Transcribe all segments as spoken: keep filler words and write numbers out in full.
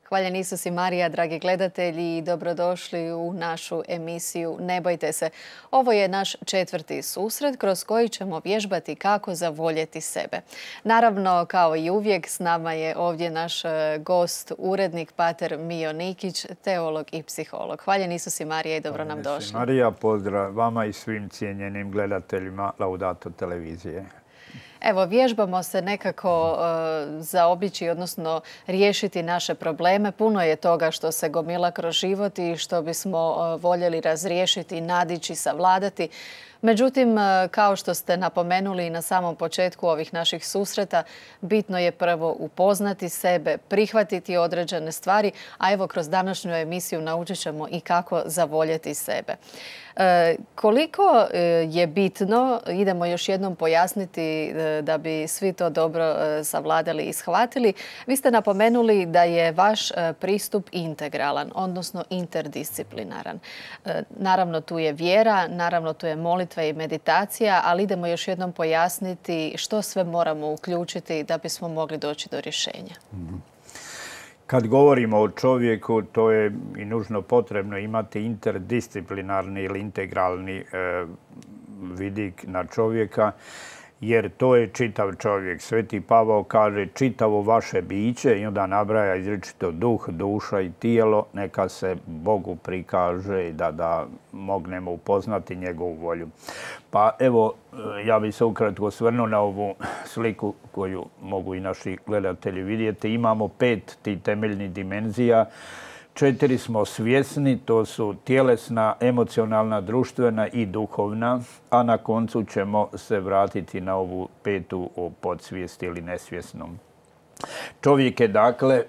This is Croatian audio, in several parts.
Hvaljen Isus i Marija, dragi gledatelji, i dobrodošli u našu emisiju Ne bojte se. Ovo je naš četvrti susret kroz koji ćemo vježbati kako zavoljeti sebe. Naravno, kao i uvijek, s nama je ovdje naš gost, urednik pater Mijo Nikić, teolog i psiholog. Hvaljen Isus i Marija i dobro nam došli. Marija, pozdrav vama i svim cijenjenim gledateljima Laudato televizije. Evo, vježbamo se nekako uh, zaobići, odnosno riješiti naše probleme. Puno je toga što se gomila kroz život i što bismo uh, voljeli razriješiti, nadići, savladati. Međutim, kao što ste napomenuli na samom početku ovih naših susreta, bitno je prvo upoznati sebe, prihvatiti određene stvari, a evo kroz današnju emisiju naučit ćemo i kako zavoljeti sebe. E, koliko je bitno, idemo još jednom pojasniti da bi svi to dobro savladali i shvatili. Vi ste napomenuli da je vaš pristup integralan, odnosno interdisciplinaran. E, naravno tu je vjera, naravno tu je molitva i meditacija, ali idemo još jednom pojasniti što sve moramo uključiti da bismo mogli doći do rješenja. Kad govorimo o čovjeku, to je i nužno potrebno imati interdisciplinarni ili integralni e, vidik na čovjeka, jer to je čitav čovjek. Sveti Pavao kaže čitavo vaše biće i onda nabraja izričito duh, duša i tijelo, neka se Bogu prikaže i da, da mognemo upoznati njegovu volju. Pa evo, ja bih se ukratko osvrnuo na ovu sliku koju mogu i naši gledatelji vidjeti. Imamo pet tih temeljnih dimenzija. Četiri smo svjesni, to su tjelesna, emocionalna, društvena i duhovna, a na koncu ćemo se vratiti na ovu petu o podsvijesti ili nesvjesnom. Čovjek je dakle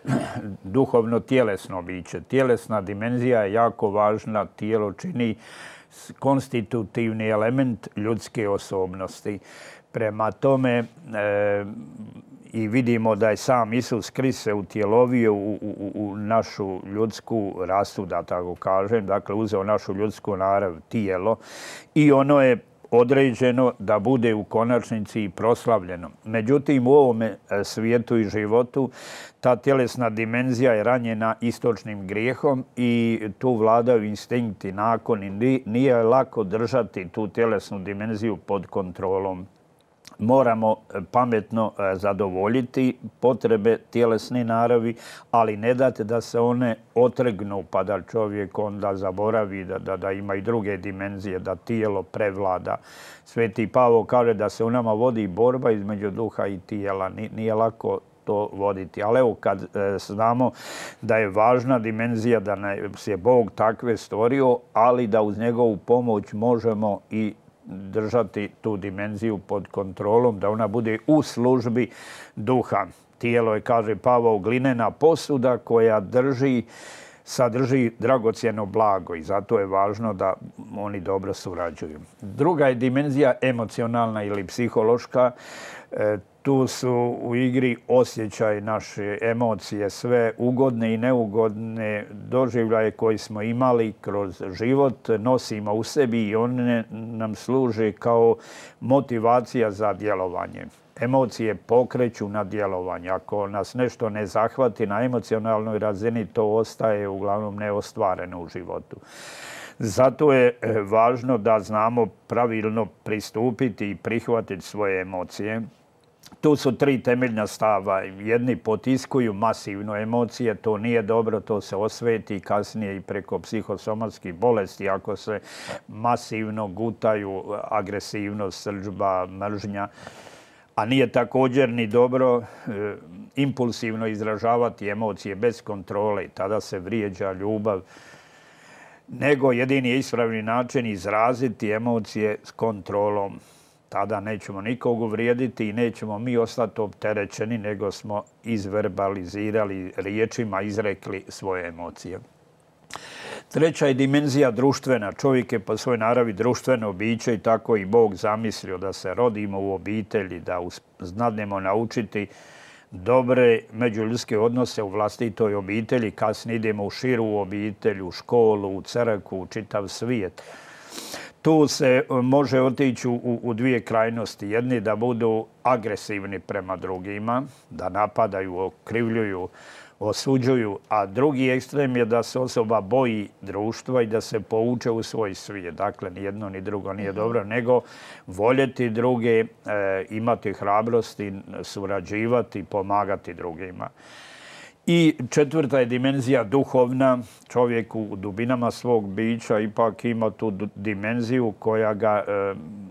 duhovno tjelesno biće. Tjelesna dimenzija je jako važna, tijelo čini konstitutivni element ljudske osobnosti. Prema tome, e, i vidimo da je sam Isus Krist se utjelovio u, u, u našu ljudsku rasu, da tako kažem, dakle uzeo našu ljudsku narav, tijelo, i ono je određeno da bude u konačnici i proslavljeno. Međutim, u ovome svijetu i životu ta tjelesna dimenzija je ranjena istočnim grijehom i tu vladaju instinkti, nakoni. Nije lako držati tu tjelesnu dimenziju pod kontrolom. Moramo pametno zadovoljiti potrebe tjelesne naravi, ali ne dati da se one otrgnu pa da čovjek onda zaboravi da, da, da ima i druge dimenzije, da tijelo prevlada. Sveti Pavao kaže da se u nama vodi borba između duha i tijela. Nije lako to voditi. Ali evo kad e, znamo da je važna dimenzija, da nas je Bog takve stvorio, ali da uz njegovu pomoć možemo i držati tu dimenziju pod kontrolom, da ona bude u službi duha. Tijelo je, kaže Pavao, glinena posuda koja drži, sadrži dragocjeno blago i zato je važno da oni dobro surađuju. Druga je dimenzija emocionalna ili psihološka. E, tu su u igri osjećaj, naše emocije, sve ugodne i neugodne doživljaje koje smo imali kroz život, nosimo u sebi i one nam služe kao motivacija za djelovanje. Emocije pokreću na djelovanje. Ako nas nešto ne zahvati na emocionalnoj razini, to ostaje uglavnom neostvareno u životu. Zato je važno da znamo pravilno pristupiti i prihvatiti svoje emocije. Tu su tri temeljna stava. Jedni potiskuju masivno emocije, to nije dobro, to se osveti kasnije i preko psihosomatskih bolesti ako se masivno gutaju agresivnost, srdžba, mržnja. A nije također ni dobro e, impulsivno izražavati emocije bez kontrole. Tada se vrijeđa ljubav. Nego jedini je ispravni način izraziti emocije s kontrolom. Tada nećemo nikog uvrijediti i nećemo mi ostati opterećeni, nego smo izverbalizirali riječima, izrekli svoje emocije. Treća je dimenzija društvena. Čovjek je po svojoj naravi društveno biće i tako i Bog zamislio da se rodimo u obitelji, da znadnemo naučiti dobre međuljudske odnose u vlastitoj obitelji, kasnije idemo u širu obitelj, u školu, u crkvu, u čitav svijet. Tu se može otići u, u dvije krajnosti. Jedni da budu agresivni prema drugima, da napadaju, okrivljuju, osuđuju, a drugi ekstrem je da se osoba boji društva i da se pouče u svoj svijet. Dakle, ni jedno ni drugo nije dobro, nego voljeti druge, imati hrabrosti, surađivati, pomagati drugima. I četvrta je dimenzija duhovna. Čovjek u dubinama svog bića ipak ima tu dimenziju koja ga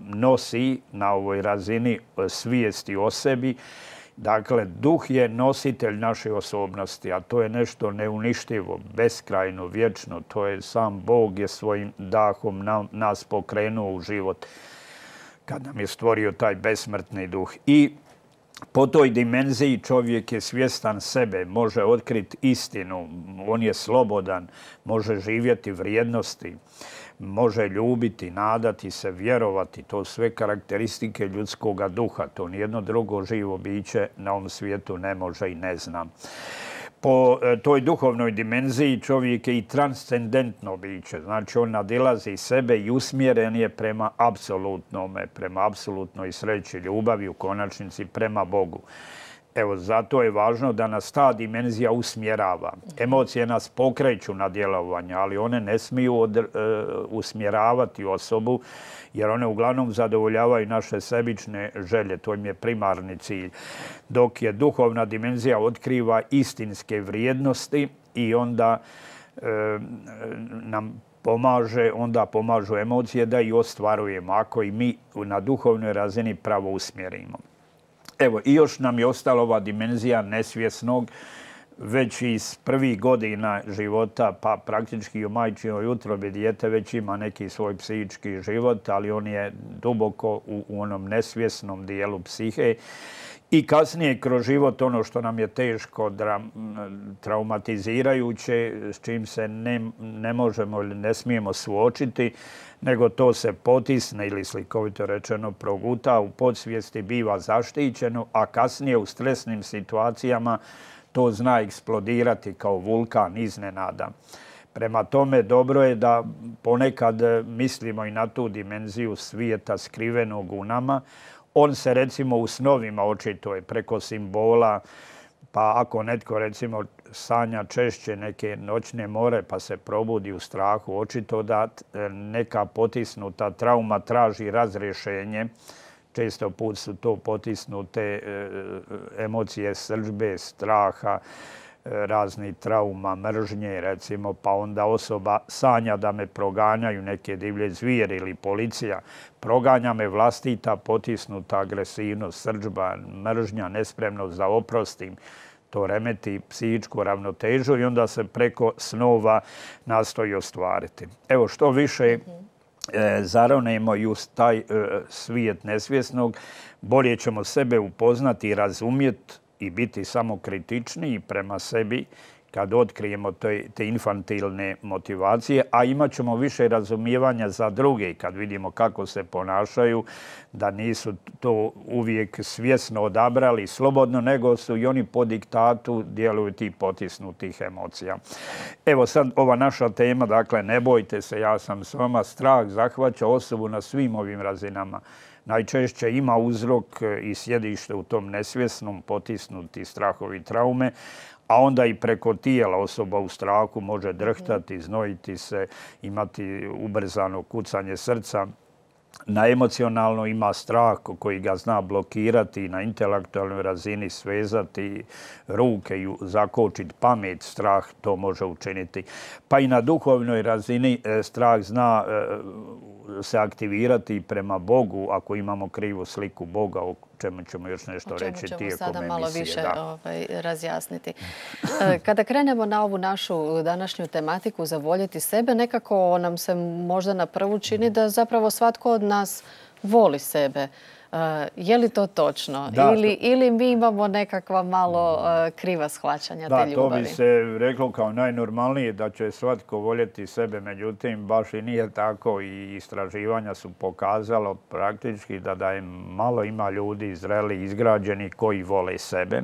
nosi na ovoj razini svijesti o sebi. Dakle, duh je nositelj naše osobnosti, a to je nešto neuništivo, beskrajno, vječno. To je sam Bog je svojim dahom nas pokrenuo u život kad nam je stvorio taj besmrtni duh. I po toj dimenziji čovjek je svjestan sebe, može otkriti istinu, on je slobodan, može živjeti vrijednosti, može ljubiti, nadati se, vjerovati. To su sve karakteristike ljudskog duha. To nijedno drugo živo biće na ovom svijetu ne može i ne zna. Po toj duhovnoj dimenziji čovjek je i transcendentno biće. Znači, on nadilazi sebe i usmjeren je prema apsolutnome, prema apsolutnoj sreći, ljubavi, u konačnici prema Bogu. Evo, zato je važno da nas ta dimenzija usmjerava. Emocije nas pokreću na djelovanje, ali one ne smiju od, e, usmjeravati osobu, jer one uglavnom zadovoljavaju naše sebične želje. To im je primarni cilj. Dok je duhovna dimenzija otkriva istinske vrijednosti i onda e, nam pomaže, onda pomažu emocije da i ostvarujemo, ako i mi na duhovnoj razini pravo usmjerimo. Evo, i još nam je ostala ova dimenzija nesvjesnog, već iz prvih godina života, pa praktički u majčinoj utrobi dijete već ima neki svoj psihički život, ali on je duboko u, u onom nesvjesnom dijelu psihe. I kasnije kroz život ono što nam je teško, traumatizirajuće, s čim se ne, ne možemo ili ne smijemo suočiti, nego to se potisne ili slikovito rečeno proguta, u podsvijesti biva zaštićeno, a kasnije u stresnim situacijama to zna eksplodirati kao vulkan iznenada. Prema tome, dobro je da ponekad mislimo i na tu dimenziju svijeta skrivenog u nama. On se recimo u snovima očituje preko simbola, pa ako netko recimo sanja češće neke noćne more pa se probudi u strahu, očito da neka potisnuta trauma traži razrješenje. Često put su to potisnute emocije srdžbe, straha, razni trauma, mržnje, recimo, pa onda osoba sanja da me proganjaju neke divlje zvijeri ili policija. Proganja me vlastita potisnuta agresivnost, srdžba, mržnja, nespremnost za oprostim. To remeti psihičku ravnotežu i onda se preko snova nastoji ostvariti. Evo, što više e, zaronemo i u taj e, svijet nesvjesnog, bolje ćemo sebe upoznati i razumjeti i biti samokritičniji prema sebi kad otkrijemo te, te infantilne motivacije, a imat ćemo više razumijevanja za druge kad vidimo kako se ponašaju, da nisu to uvijek svjesno odabrali slobodno, nego su i oni po diktatu djeluju tih potisnutih emocija. Evo sad ova naša tema, dakle, ne bojte se, ja sam s vama, strah zahvaća osobu na svim ovim razinama. Najčešće ima uzrok i sjedište u tom nesvjesnom, potisnuti strahovi traume, a onda i preko tijela osoba u strahu može drhtati, znojiti se, imati ubrzano kucanje srca. Na emocionalno ima strah koji ga zna blokirati, na intelektualnoj razini svezati ruke i zakočiti pamet, strah to može učiniti. Pa i na duhovnoj razini strah zna se aktivirati prema Bogu ako imamo krivu sliku Boga, o čemu ćemo još nešto reći tijekom emisije. O čemu ćemo sada malo više ovaj, razjasniti. Kada krenemo na ovu našu današnju tematiku za voljeti sebe, nekako nam se možda na prvu čini da zapravo svatko od nas voli sebe. Uh, je li to točno? Da, ili, to... ili mi imamo nekakva malo uh, kriva shvaćanja da, te ljubavi? Da, to bi se reklo kao najnormalnije da će svatko voljeti sebe. Međutim, baš i nije tako i istraživanja su pokazalo praktički da, da je malo ima ljudi zreli, izgrađeni koji vole sebe.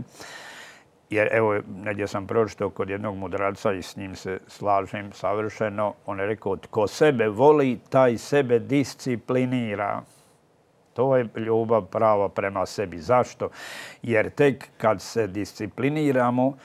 Jer evo, negdje sam pročitao kod jednog mudraca i s njim se slažem savršeno. On je rekao, tko sebe voli, taj sebe disciplinira. To je ljubav prava prema sebi. Zašto? Jer tek kad se discipliniramo,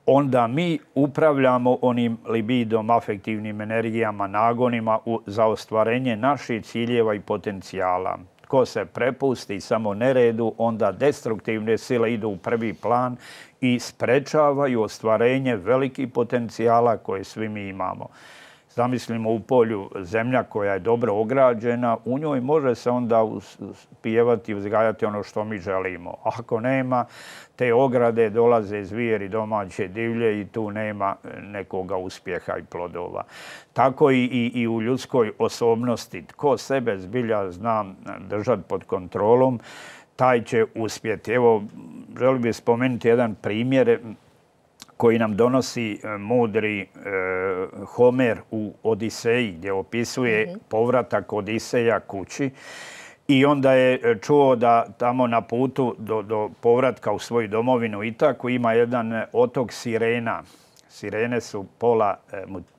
onda mi upravljamo onim libidom, afektivnim energijama, nagonima za ostvarenje naših ciljeva i potencijala. Ko se prepusti samo neredu, onda destruktivne sile idu u prvi plan i sprečavaju ostvarenje velikih potencijala koje svi mi imamo. Zamislimo u polju zemlja koja je dobro ograđena, u njoj može se onda pjevati i uzgajati ono što mi želimo. Ako nema, te ograde dolaze zvijeri domaće divlje i tu nema nekoga uspjeha i plodova. Tako i, i, i u ljudskoj osobnosti. Tko sebe zbilja zna držati pod kontrolom, taj će uspjeti. Evo, želim bih spomenuti jedan primjer koji nam donosi mudri Homer u Odiseji, gdje opisuje povratak Odiseja kući. I onda je čuo da tamo na putu do, do povratka u svoju domovinu Itaku ima jedan otok sirena. Sirene su pola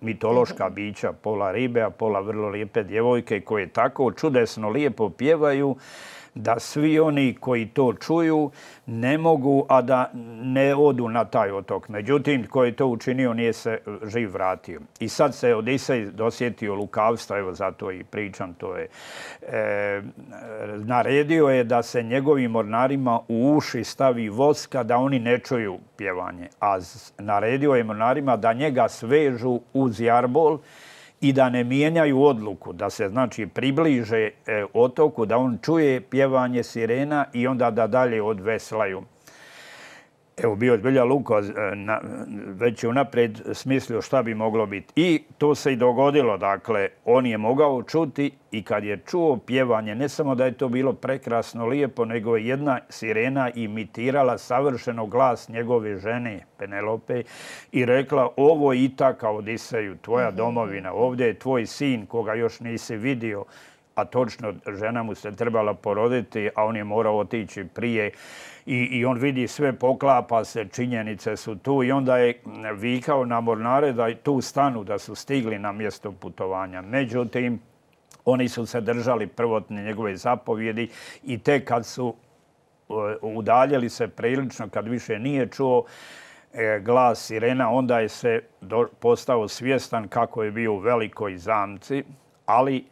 mitološka bića, pola ribe, a pola vrlo lijepe djevojke koje tako čudesno lijepo pjevaju da svi oni koji to čuju ne mogu, a da ne odu na taj otok. Međutim, koji je to učinio nije se živ vratio. I sad se Odisej dosjetio lukavstva, evo zato i pričam, to je. E, naredio je da se njegovim mornarima u uši stavi voska da oni ne čuju pjevanje. A naredio je mornarima da njega svežu uz jarbol i da ne mijenjaju odluku, da se znači približe e, otoku, da on čuje pjevanje sirena i onda da dalje odveslaju. Evo, bio je zbilja Luko na, već je unaprijed smislio šta bi moglo biti. I to se i dogodilo, dakle, on je mogao čuti i kad je čuo pjevanje, ne samo da je to bilo prekrasno lijepo, nego je jedna sirena imitirala savršeno glas njegove žene, Penelope, i rekla, ovo je Itaka, Odiseju, tvoja domovina, ovdje je tvoj sin koga još nisi vidio, a točno žena mu se trebala poroditi, a on je morao otići prije. I, i on vidi sve, poklapa se, činjenice su tu i onda je vikao na mornare da tu stanu, da su stigli na mjesto putovanja. Međutim, oni su se držali prvotne njegove zapovjedi i tek kad su udaljili se prilično, kad više nije čuo glas sirena, onda je se postao svjestan kako je bio u velikoj zamci, ali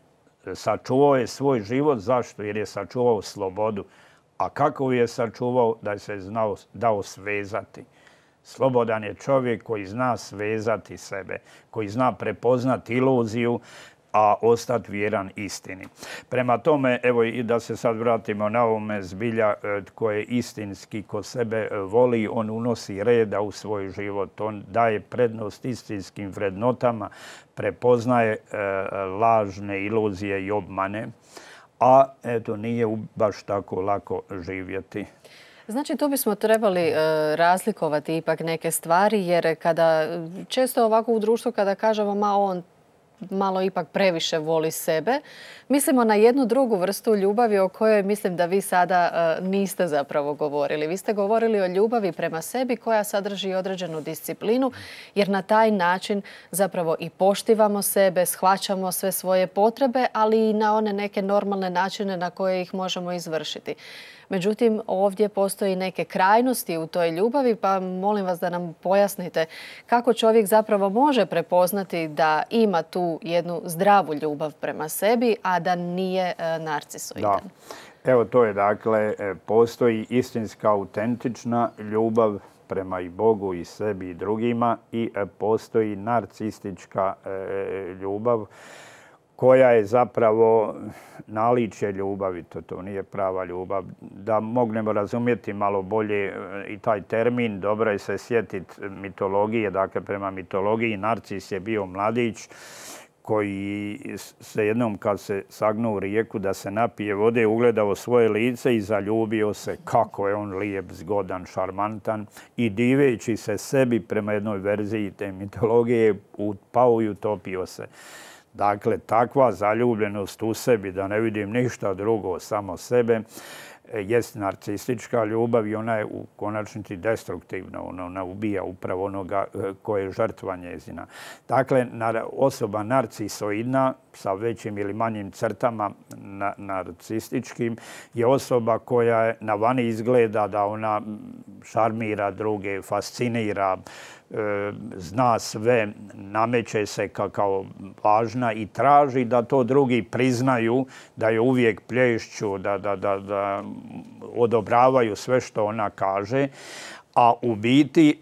sačuvao je svoj život. Zašto? Jer je sačuvao slobodu. A kako je sačuvao? Da je se znao, dao svezati. Slobodan je čovjek koji zna svezati sebe, koji zna prepoznati iluziju, a ostati vjeran istini. Prema tome, evo i da se sad vratimo na ovome zbilja tko je istinski, ko sebe voli, on unosi reda u svoj život. On daje prednost istinskim vrednotama, prepoznaje e, lažne iluzije i obmane, a eto nije baš tako lako živjeti. Znači, tu bismo trebali e, razlikovati ipak neke stvari, jer kada često ovako u društvu kada kažemo ma on malo ipak previše voli sebe, mislimo na jednu drugu vrstu ljubavi o kojoj mislim da vi sada uh, niste zapravo govorili. Vi ste govorili o ljubavi prema sebi koja sadrži određenu disciplinu, jer na taj način zapravo i poštivamo sebe, shvaćamo sve svoje potrebe, ali i na one neke normalne načine na koje ih možemo izvršiti. Međutim, ovdje postoji neke krajnosti u toj ljubavi, pa molim vas da nam pojasnite kako čovjek zapravo može prepoznati da ima tu jednu zdravu ljubav prema sebi, a da nije narcisoidan. Da. Evo to je, dakle, postoji istinska, autentična ljubav prema i Bogu i sebi i drugima i postoji narcistička ljubav koja je zapravo naličje ljubavi, to, to nije prava ljubav. Da mognemo razumjeti malo bolje i taj termin, dobro je se sjetiti mitologije, dakle prema mitologiji Narcis je bio mladić koji se jednom kad se sagnuo u rijeku da se napije vode, ugledao svoje lice i zaljubio se kako je on lijep, zgodan, šarmantan i diveći se sebi prema jednoj verziji te mitologije pao i utopio se. Dakle, takva zaljubljenost u sebi, da ne vidim ništa drugo, samo sebe, jest narcistička ljubav i ona je u konačnici destruktivna. Ona ubija upravo onoga koje je žrtva njezina. Dakle, osoba narcisoidna sa većim ili manjim crtama narcističkim je osoba koja na vani izgleda da ona šarmira druge, fascinira, zna sve, nameće se kao važna i traži da to drugi priznaju, da je uvijek plješću, da odobravaju sve što ona kaže, a u biti,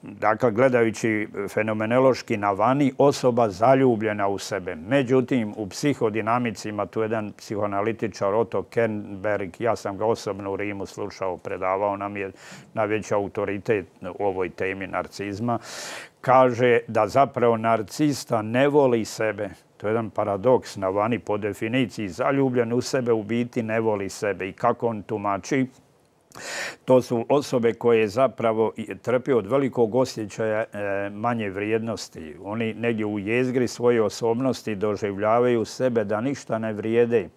dakle, gledajući fenomenološki na vani, osoba zaljubljena u sebe. Međutim, u psihodinamici ima tu jedan psihoanalitičar Otto Kernberg, ja sam ga osobno u Rimu slušao, predavao nam je najveći autoritet u ovoj temi narcizma, kaže da zapravo narcista ne voli sebe. To je jedan paradoks na vani po definiciji. Zaljubljen u sebe u biti ne voli sebe. I kako on tumači? To su osobe koje zapravo trpe od velikog osjećaja manje vrijednosti. Oni negdje u jezgri svoje osobnosti doživljavaju sebe da ništa ne vrijede,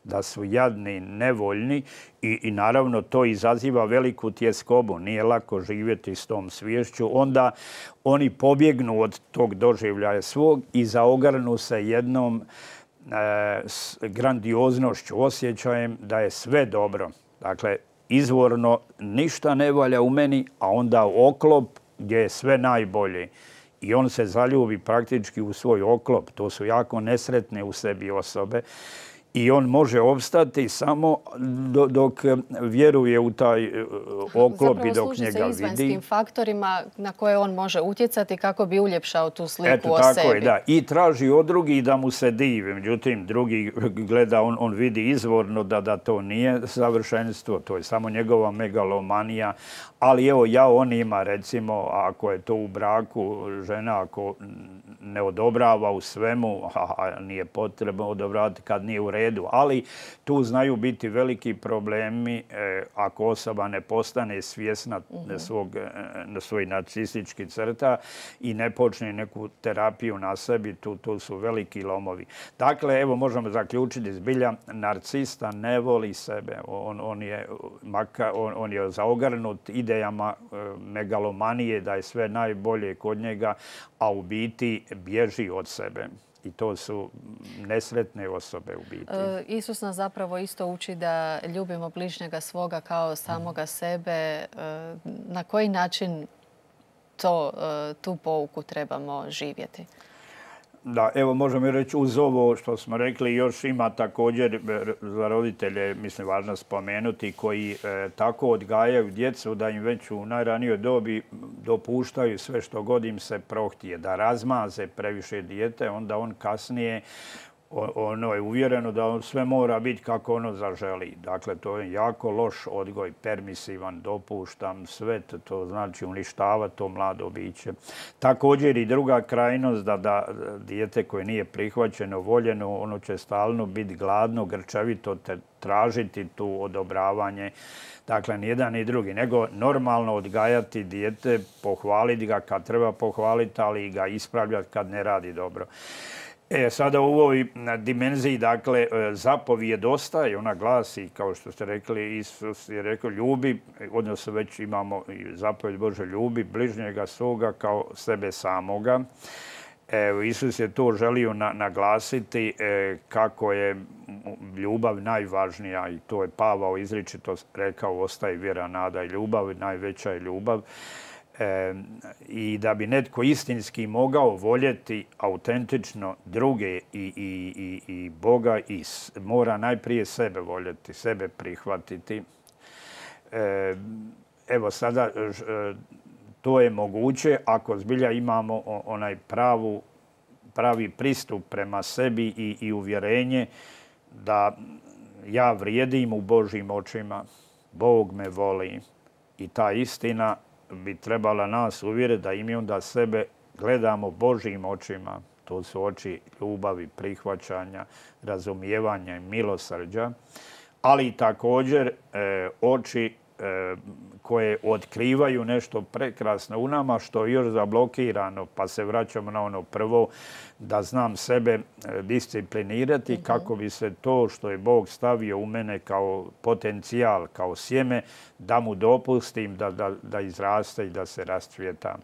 da su jadni, nevoljni i, i naravno to izaziva veliku tjeskobu. Nije lako živjeti s tom sviješću. Onda oni pobjegnu od tog doživljaja svog i zaogrnu se jednom e, s grandioznošću, osjećajem da je sve dobro. Dakle, izvorno ništa ne valja u meni, a onda oklop gdje je sve najbolje. I on se zaljubi praktički u svoj oklop. To su jako nesretne u sebi osobe. I on može opstati samo dok vjeruje u taj oklop i dok njega vidi. Zapravo služi se izvanjskim faktorima na koje on može utjecati kako bi uljepšao tu sliku Eto, o tako sebi. Je, da. I traži od drugih da mu se divi. Međutim, drugi gleda, on, on vidi izvorno da, da to nije savršenstvo. To je samo njegova megalomanija. Ali evo, ja on ima, recimo, ako je to u braku, žena ako ne odobrava u svemu, a nije potrebno odobravati kad nije u redu. Ali tu znaju biti veliki problemi eh, ako osoba ne postane svjesna mm-hmm. svog, eh, svoj narcistički crta i ne počne neku terapiju na sebi, tu, tu su veliki lomovi. Dakle, evo možemo zaključiti zbilja, narcista ne voli sebe. On, on, je, maka, on, on je zaogrnut idejama eh, megalomanije da je sve najbolje kod njega, a u biti bježi od sebe. I to su nesretne osobe u biti. E, Isus nas zapravo isto uči da ljubimo bližnjega svoga kao samoga sebe. E, na koji način to, e, tu pouku trebamo živjeti? Da, evo možemo reći uz ovo što smo rekli, još ima također za roditelje, mislim, važno spomenuti, koji e, tako odgajaju djecu da im već u najranijoj dobi dopuštaju sve što god im se prohtije, da razmaze previše dijete, onda on kasnije ono je uvjereno da on sve mora biti kako ono zaželi. Dakle, to je jako loš odgoj, permisivan, dopuštam, sve to znači uništavati to mlado biće. Također i druga krajnost da, da dijete koje nije prihvaćeno, voljeno, ono će stalno biti gladno, grčevito te tražiti tu odobravanje. Dakle, ni jedan ni drugi, nego normalno odgajati dijete, pohvaliti ga kad treba pohvaliti, ali ga ispravljati kad ne radi dobro. E, sada u ovoj dimenziji, dakle, zapovijed ostaje, ona glasi, kao što ste rekli, Isus je rekao, ljubi, odnosno već imamo zapovijed Bože, ljubi bližnjega svoga kao sebe samoga. Evo, Isus je to želio na, naglasiti e, kako je ljubav najvažnija i to je Pavao izričito rekao, ostaje vjera, nada i ljubav, najveća je ljubav. E, I da bi netko istinski mogao voljeti autentično druge i, i, i, i Boga, i mora najprije sebe voljeti, sebe prihvatiti. E, evo sada to je moguće ako zbilja imamo onaj pravu, pravi pristup prema sebi i, i uvjerenje da ja vrijedim u Božjim očima, Bog me voli i ta istina bi trebala nas uvjeriti da i mi onda sebe gledamo Božjim očima. To su oči ljubavi, prihvaćanja, razumijevanja i milosrđa, ali također e, oči e, koje otkrivaju nešto prekrasno u nama što je još zablokirano, pa se vraćamo na ono prvo, da znam sebe disciplinirati mm-hmm. kako bi se to što je Bog stavio u mene kao potencijal, kao sjeme, da mu dopustim da, da, da izraste i da se rascvjeta.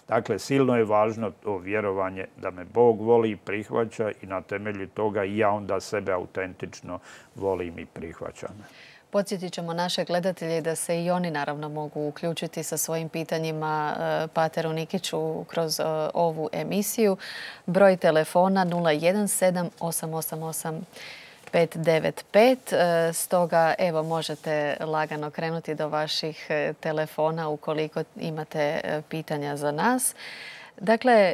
Dakle, silno je važno to vjerovanje da me Bog voli i prihvaća i na temelju toga i ja onda sebe autentično volim i prihvaćam. Podsjetit ćemo naše gledatelje da se i oni naravno mogu uključiti sa svojim pitanjima pateru Nikiću kroz ovu emisiju. Broj telefona nula jedan sedam osam osam osam pet devet pet. Stoga evo možete lagano krenuti do vaših telefona ukoliko imate pitanja za nas. Dakle,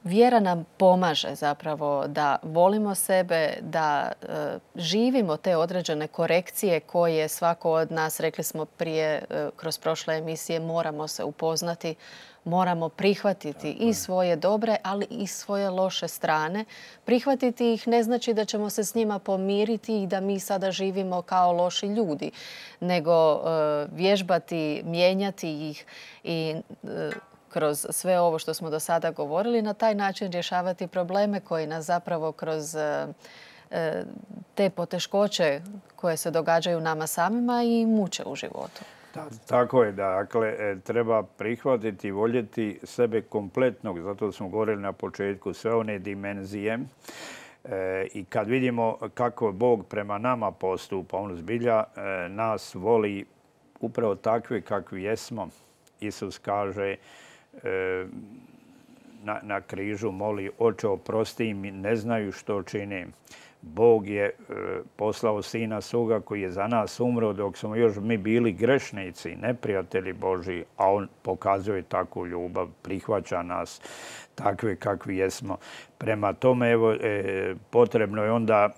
vjera nam pomaže zapravo da volimo sebe, da e, živimo te određene korekcije koje svako od nas, rekli smo prije e, kroz prošle emisije, moramo se upoznati, moramo prihvatiti i svoje dobre, ali i svoje loše strane. Prihvatiti ih ne znači da ćemo se s njima pomiriti i da mi sada živimo kao loši ljudi, nego e, vježbati, mijenjati ih i e, kroz sve ovo što smo do sada govorili, na taj način rješavati probleme koji nas zapravo kroz te poteškoće koje se događaju nama samima i muče u životu. Da, tako je, dakle, treba prihvatiti i voljeti sebe kompletnog, zato smo govorili na početku, sve one dimenzije. E, I kad vidimo kako Bog prema nama postupa, on zbilja e, nas voli upravo takve kakvi jesmo. Isus kaže Na, na križu moli, oče oprosti im, ne znaju što čine. Bog je e, poslao sina svoga koji je za nas umro dok smo još mi bili grešnici, neprijatelji Božji, a on pokazuje takvu ljubav, prihvaća nas takve kakvi jesmo. Prema tome, evo, e, potrebno je onda e,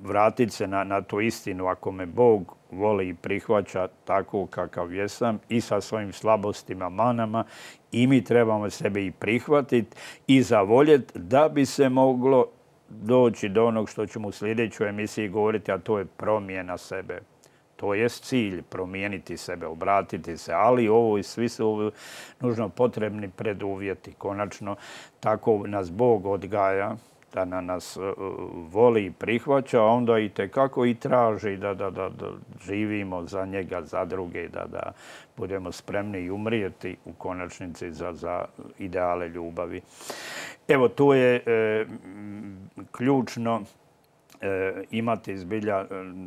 vratiti se na, na tu istinu. Ako me Bog voli i prihvaća tako kakav jesam i sa svojim slabostima, manama, i mi trebamo sebe i prihvatiti i zavoljeti da bi se moglo doći do onog što ćemo u sljedećoj emisiji govoriti, a to je promjena sebe. To je cilj, promijeniti sebe, obratiti se, ali ovo i svi su nužno potrebni preduvjeti. Konačno, tako nas Bog odgaja, da na nas voli i prihvaća, a onda i tekako i traži da, da, da, da živimo za njega, za druge, da, da budemo spremni i umrijeti u konačnici za, za ideale ljubavi. Evo, tu je e, ključno e, imati zbilja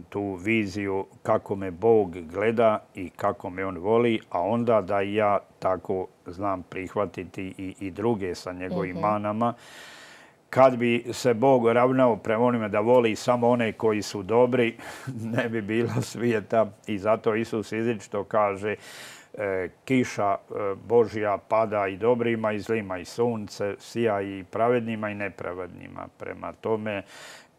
tu viziju kako me Bog gleda i kako me on voli, a onda da i ja tako znam prihvatiti i, i druge sa njegovim mm-hmm. manama. Kad bi se Bog ravnao prema onima da voli samo one koji su dobri, ne bi bilo svijeta. I zato Isus izričito kaže e, kiša e, Božja pada i dobrima i zlima, i sunce sija i pravednima i nepravednima. Prema tome,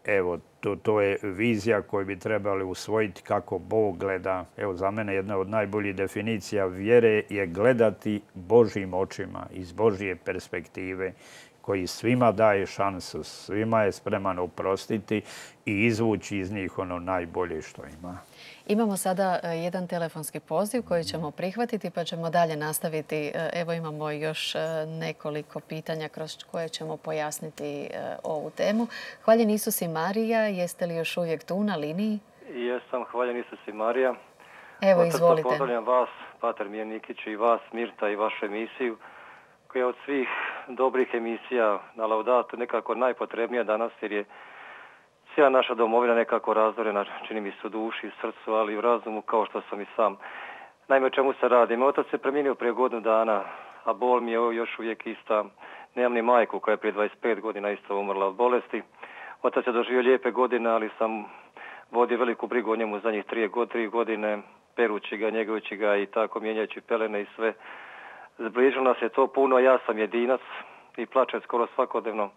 evo, to, to je vizija koju bi trebali usvojiti kako Bog gleda. Evo, za mene jedna od najboljih definicija vjere je gledati Božjim očima, iz Božje perspektive, koji svima daje šansu, svima je spreman oprostiti i izvući iz njih ono najbolje što ima. Imamo sada jedan telefonski poziv koji ćemo prihvatiti pa ćemo dalje nastaviti. Evo imamo još nekoliko pitanja kroz koje ćemo pojasniti ovu temu. Hvaljen Isus i Marija, jeste li još uvijek tu na liniji? Jesam, hvaljen Isus i Marija. Evo, izvolite. Pozdravljam vas, pater Nikić, i vas, Mirta, i vašu emisiju, koja je od svih dobrih emisija na Laudatu nekako najpotrebnija danas, jer je cijela naša domovina nekako razorena, čini mi se u duši, srcu, ali i u razumu, kao što sam i sam. Naime, o čemu se radi? Moj otac se preminuo prije godinu dana, a bol mi je još uvijek ista. Nemam ni majku koja je prije dvadeset pet godina isto umrla od bolesti. Otac je doživio lijepe godine, ali sam vodio veliku brigu o njemu zadnjih tri godine, perući ga, njegujući ga i tako mijenjajući pelene i sve. Zbližilo nas je to puno, ja sam jedinac i plačem skoro svakodnevno,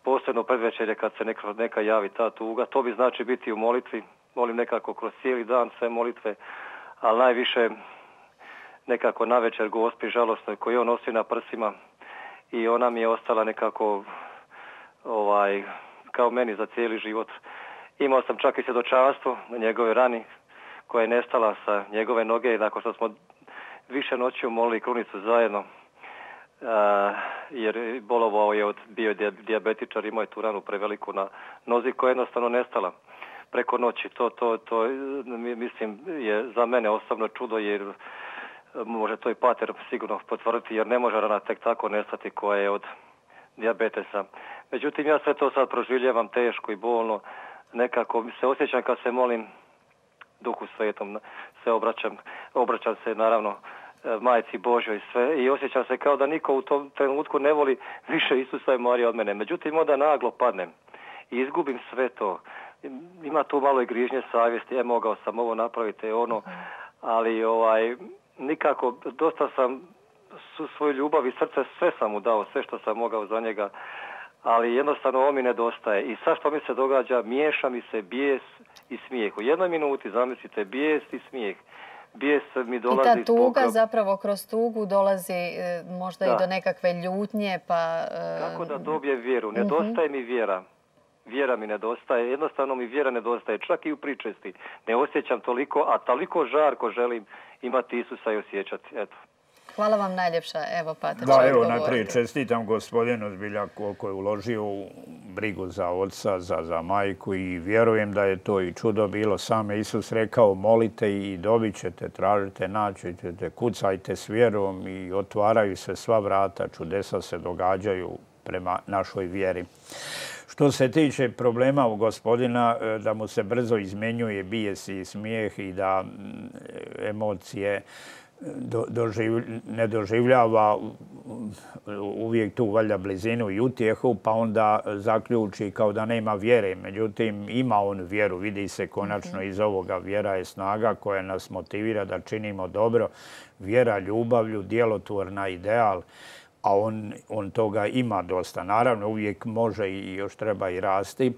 posebno predvečerje kad se neka, neka javi ta tuga. To bi znači biti u molitvi, molim nekako kroz cijeli dan sve molitve, ali najviše nekako navečer Gospi žalostnoj koju on nosi na prsima i ona mi je ostala nekako ovaj, kao meni za cijeli život. Imao sam čak i svjedočanstvo na njegove rani koja je nestala sa njegove noge nakon što smo više noći molili krunicu zajedno, uh, jer bolovao je od bio dijabetičar, imao je tu ranu preveliku na nozi koja je jednostavno nestala preko noći. To, to, to mislim je za mene osobno čudo, jer može to i pater sigurno potvrditi, jer ne može rana tek tako nestati koja je od dijabetesa. Međutim, ja sve to sad proživljavam teško i bolno. Nekako se osjećam kad se molim Duhu Svetom se obraćam, obraćam se naravno Majci Božjoj sve i osjećam se kao da niko u tom trenutku ne voli više Isusa i Marija od mene. Međutim, onda naglo padnem i izgubim sve to. Ima tu malo i grižnje savjesti, je mogao sam ovo napraviti, ono, ali ovaj, nikako, dosta sam su svoju ljubav i srce, sve sam mu dao, sve što sam mogao za njega, ali jednostavno ovo mi nedostaje. I sad što mi se događa, miješa mi se bijes i smijeh. U jednoj minuti, zamislite, bijes i smijeh. Bijes mi dolazi... I ta tuga zbog... zapravo kroz tugu dolazi e, možda da. i do nekakve ljutnje, pa... E... Kako da dobije vjeru? Nedostaje mi vjera. Vjera mi nedostaje. Jednostavno mi vjera nedostaje. Čak i u pričesti. Ne osjećam toliko, a toliko žarko želim imati Isusa i osjećati. Eto. Hvala vam najljepša. Evo, Pater. Da, evo, najprije čestitam gospodinu zbilja koliko je uložio u brigu za oca, za, za majku i vjerujem da je to i čudo bilo. Sam je Isus rekao, molite i dobit ćete, tražite, naći ćete, kucajte s vjerom i otvaraju se sva vrata, čudesa se događaju prema našoj vjeri. Što se tiče problema u gospodina, da mu se brzo izmenjuje bijes i smijeh i da emocije Do, doživ, ne doživljava uvijek tu valjda blizinu i utjehu, pa onda zaključi kao da nema vjere. Međutim, ima on vjeru, vidi se konačno iz ovoga. Vjera je snaga koja nas motivira da činimo dobro. Vjera ljubavlju, djelotvorna ideal, a on, on toga ima dosta. Naravno, uvijek može i još treba i rasti.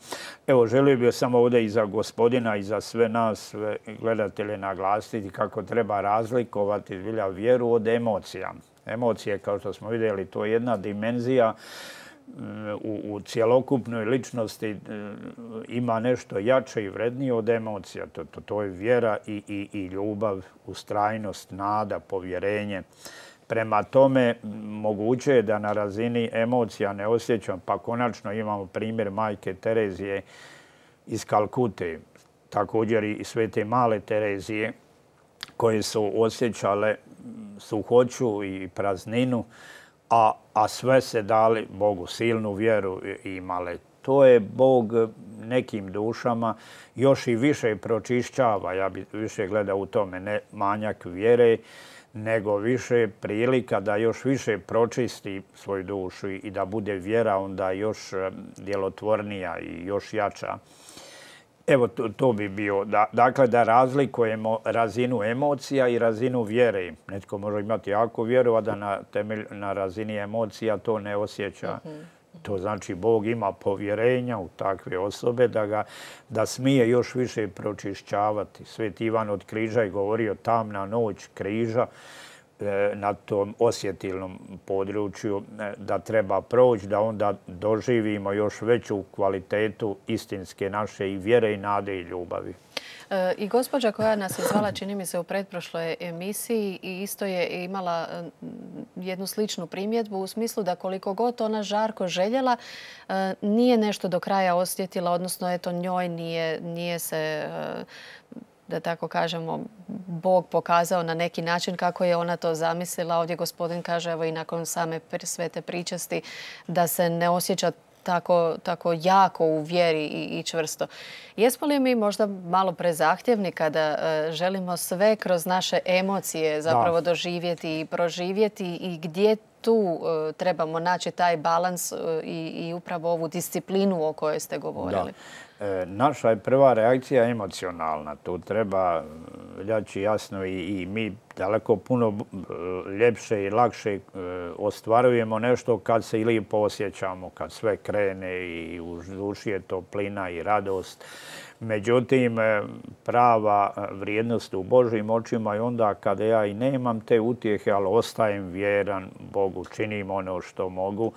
Evo, želio bih samo ovdje i za gospodina i za sve nas, sve gledatelje naglasiti kako treba razlikovati zbilja vjeru od emocija. Emocije, kao što smo vidjeli, to je jedna dimenzija u, u cjelokupnoj ličnosti, ima nešto jače i vrednije od emocija. To, to, to je vjera i, i, i ljubav, ustrajnost, nada, povjerenje. Prema tome, moguće je da na razini emocija ne osjećam, pa konačno imamo primjer majke Terezije iz Kalkute, također i svete male Terezije, koje su osjećale suhoću i prazninu, a, a sve se dali Bogu, silnu vjeru imale. To je Bog nekim dušama još i više pročišćava, ja bi više gledao u tome, ne manjak vjere, nego više prilika da još više pročisti svoju dušu i da bude vjera onda još djelotvornija i još jača. Evo, to, to bi bio. Da, dakle, da razlikujemo razinu emocija i razinu vjere. Netko može imati jako vjeru, a da na, temelj, na razini emocija to ne osjeća. Uh-huh. To znači Bog ima povjerenja u takve osobe da ga da smije još više pročišćavati. Sveti Ivan od Križa je govorio tamna noć križa e, na tom osjetilnom području e, da treba proći, da onda doživimo još veću kvalitetu istinske naše i vjere i nade i ljubavi. I gospođa koja nas je zvala, čini mi se, u pretprošloj emisiji i isto je imala jednu sličnu primjedbu u smislu da koliko god ona žarko željela, nije nešto do kraja osjetila, odnosno eto njoj nije, nije se, da tako kažemo, Bog pokazao na neki način kako je ona to zamislila. Ovdje gospodin kaže, evo i nakon same svete pričasti, da se ne osjeća tako, tako jako u vjeri i, i čvrsto. Jesmo li mi možda malo prezahtjevni kada uh, želimo sve kroz naše emocije zapravo da. doživjeti i proživjeti i gdje tu uh, trebamo naći taj balans uh, i, i upravo ovu disciplinu o kojoj ste govorili? Da. E, naša je prva reakcija emocionalna. Tu treba reći jasno i, i mi daleko puno ljepše i lakše e, ostvarujemo nešto kad se i lijepo osjećamo, kad sve krene i u duši je toplina i radost. Međutim, prava vrijednost u Božjim očima je onda kada ja i nemam te utjehe, ali ostajem vjeran Bogu, činim ono što mogu,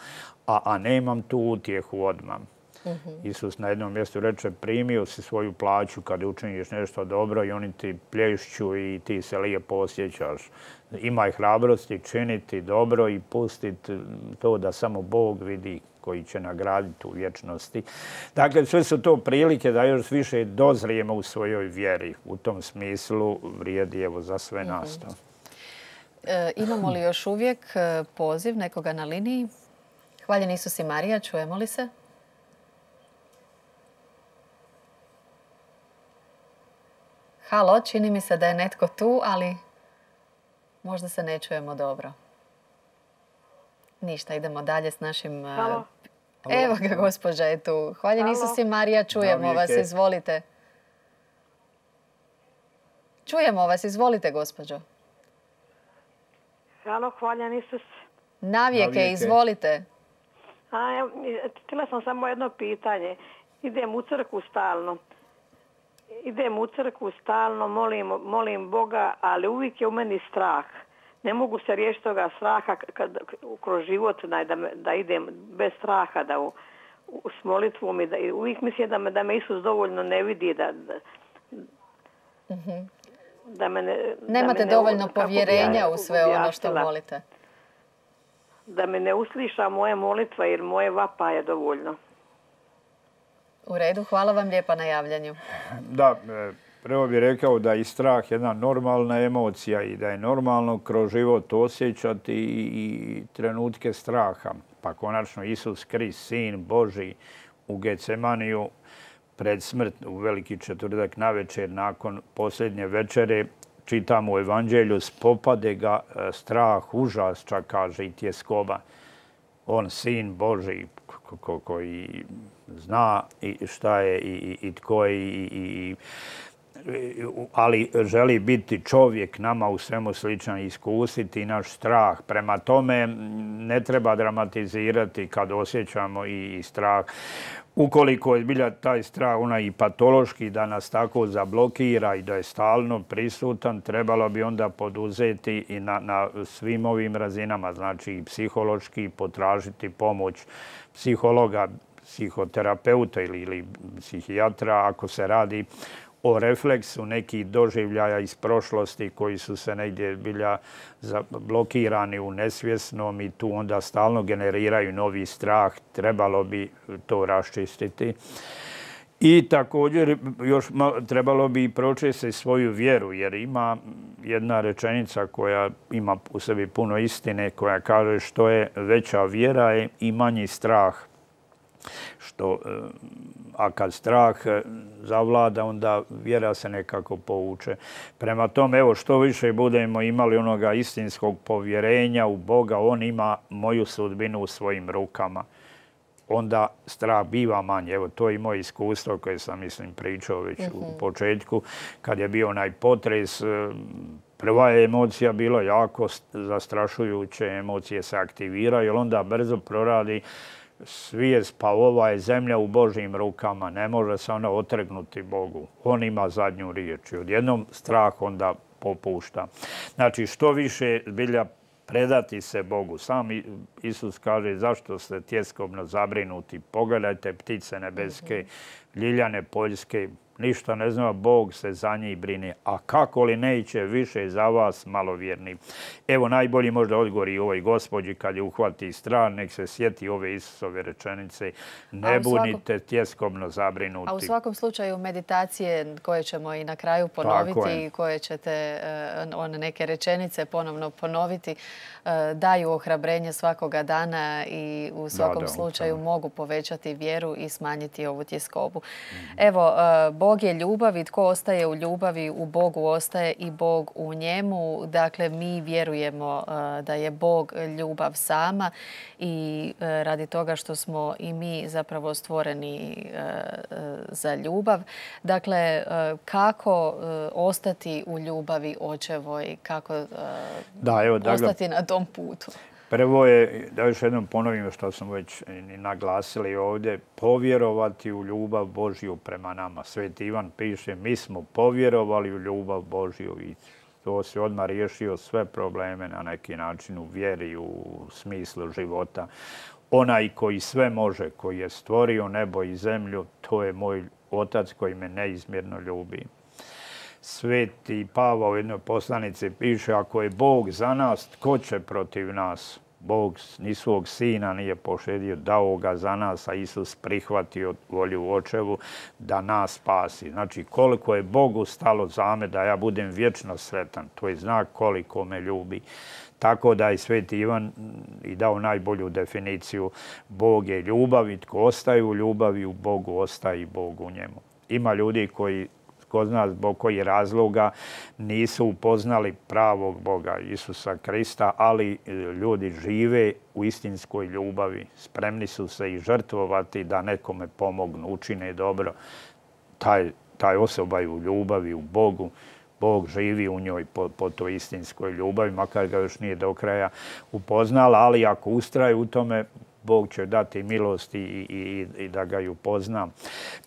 a, a nemam tu utjehu odmah. Uh-huh. Isus na jednom mjestu reče, primio si svoju plaću kad učiniš nešto dobro i oni ti plješću i ti se lijepo osjećaš. Imaj hrabrosti činiti dobro i pustiti to da samo Bog vidi koji će nagraditi u vječnosti. Dakle, sve su to prilike da još više dozrijemo u svojoj vjeri. U tom smislu vrijedi evo za sve nas. Uh-huh. e, imamo li još uvijek poziv nekoga na liniji? Hvaljen Isus i Marija, čujemo li se? Halo, čini mi se da je netko tu, ali možda se ne čujemo dobro. Ništa, idemo dalje s našim... Halo. Evo ga, gospođa je tu. Hvala Isus i Marija, čujemo vas, izvolite. Čujemo vas, izvolite, gospođo. Halo, hvala Isus. Navijeke, izvolite. Htjela sam samo jedno pitanje. Idem u crkvu stalno. Idem u crkvu stalno, molim, molim Boga, ali uvijek je u meni strah. Ne mogu se riješiti toga straha kad, kroz život da, da idem bez straha, da u, u, s molitvom i da i uvijek mislim da me, da me Isus dovoljno ne vidi, da, da, mm-hmm. da me ne... Nemate da me ne, dovoljno povjerenja u sve ono što molite. Da me ne usliša moje molitva jer moje vapa je dovoljno. U redu, hvala vam lijepa na javljanju. Da, prvo bih rekao da je strah jedna normalna emocija i da je normalno kroz život osjećati i trenutke straha. Pa konačno Isus Krist, Sin Božji, u Getsemaniju pred smrt, u veliki četvrtak navečer nakon posljednje večere, čitamo u Evanđelju, spopade ga strah, užas, čak kaže i tjeskoba. On, Sin Božji, koji zna i šta je i, i tko je, i, i, ali želi biti čovjek, nama u svemu sličan, iskusiti naš strah. Prema tome ne treba dramatizirati kad osjećamo i, i strah. Ukoliko je zbilja taj strah onaj i patološki da nas tako zablokira i da je stalno prisutan, trebalo bi onda poduzeti i na, na svim ovim razinama, znači i psihološki potražiti pomoć psihologa, psihoterapeuta ili, ili psihijatra ako se radi o refleksu nekih doživljaja iz prošlosti koji su se negdje bilja blokirani u nesvjesnom i tu onda stalno generiraju novi strah. Trebalo bi to raščistiti. I također još trebalo bi pročistiti svoju vjeru jer ima jedna rečenica koja ima u sebi puno istine koja kaže što je veća vjera je i manji strah. Što, a kad strah zavlada, onda vjera se nekako povuče. Prema tome, evo, što više budemo imali onoga istinskog povjerenja u Boga, on ima moju sudbinu u svojim rukama. Onda strah biva manje. Evo, to je i moje iskustvo koje sam, mislim, pričao već mm-hmm. u početku. Kad je bio onaj potres, prva je emocija bila jako zastrašujuće, emocije se aktiviraju, jer onda brzo proradi svijest, pa ova je zemlja u Božjim rukama, ne može se ona otrgnuti Bogu. On ima zadnju riječ i odjednom strah onda popušta. Znači, što više zbilja predati se Bogu. Sam Isus kaže zašto ste tjeskobno zabrinuti. Pogledajte ptice nebeske, ljiljane poljske, ništa ne zna, Bog se za njih brine. A kako li neće više za vas malovjerni? Evo najbolji možda odgovor i ovoj gospođi kad je uhvati strah, nek se sjeti ove Isusove rečenice. Ne budite tjeskobno zabrinuti. A u svakom slučaju meditacije koje ćemo i na kraju ponoviti i koje ćete one neke rečenice ponovno ponoviti, daju ohrabrenje svakoga dana i u svakom da, da, slučaju da. mogu povećati vjeru i smanjiti ovu tjeskobu. Mm-hmm. Evo, Bog je ljubav i tko ostaje u ljubavi, u Bogu ostaje i Bog u njemu. Dakle, mi vjerujemo da je Bog ljubav sama i radi toga što smo i mi zapravo stvoreni za ljubav. Dakle, kako ostati u ljubavi očevoj, kako da, evo, ostati na tom putu? Prvo je, da još jednom ponovim što smo već naglasili ovdje, povjerovati u ljubav Božju prema nama. Sveti Ivan piše, mi smo povjerovali u ljubav Božju i to se odmah riješio sve probleme na neki način u vjeri, u smislu života. Onaj koji sve može, koji je stvorio nebo i zemlju, to je moj Otac koji me neizmjerno ljubi. Sveti Pavao u jednoj poslanici piše, ako je Bog za nas, tko će protiv nas? Bog ni svog sina nije pošedio, dao ga za nas, a Isus prihvatio volju očevu da nas spasi. Znači, koliko je Bogu stalo za me da ja budem vječno sretan, to je znak koliko me ljubi. Tako da je Sveti Ivan i dao najbolju definiciju. Bog je ljubav i tko ostaje u ljubavi, u Bogu ostaje i Bog u njemu. Ima ljudi koji ko zna zbog kojih razloga nisu upoznali pravog Boga Isusa Krista, ali ljudi žive u istinskoj ljubavi. Spremni su se i žrtvovati da nekome pomognu, učine dobro. Taj, taj osoba je u ljubavi, u Bogu. Bog živi u njoj po, po toj istinskoj ljubavi, makar ga još nije do kraja upoznala, ali ako ustraje u tome, Bog će dati milost i, i, i da ga ju upozna.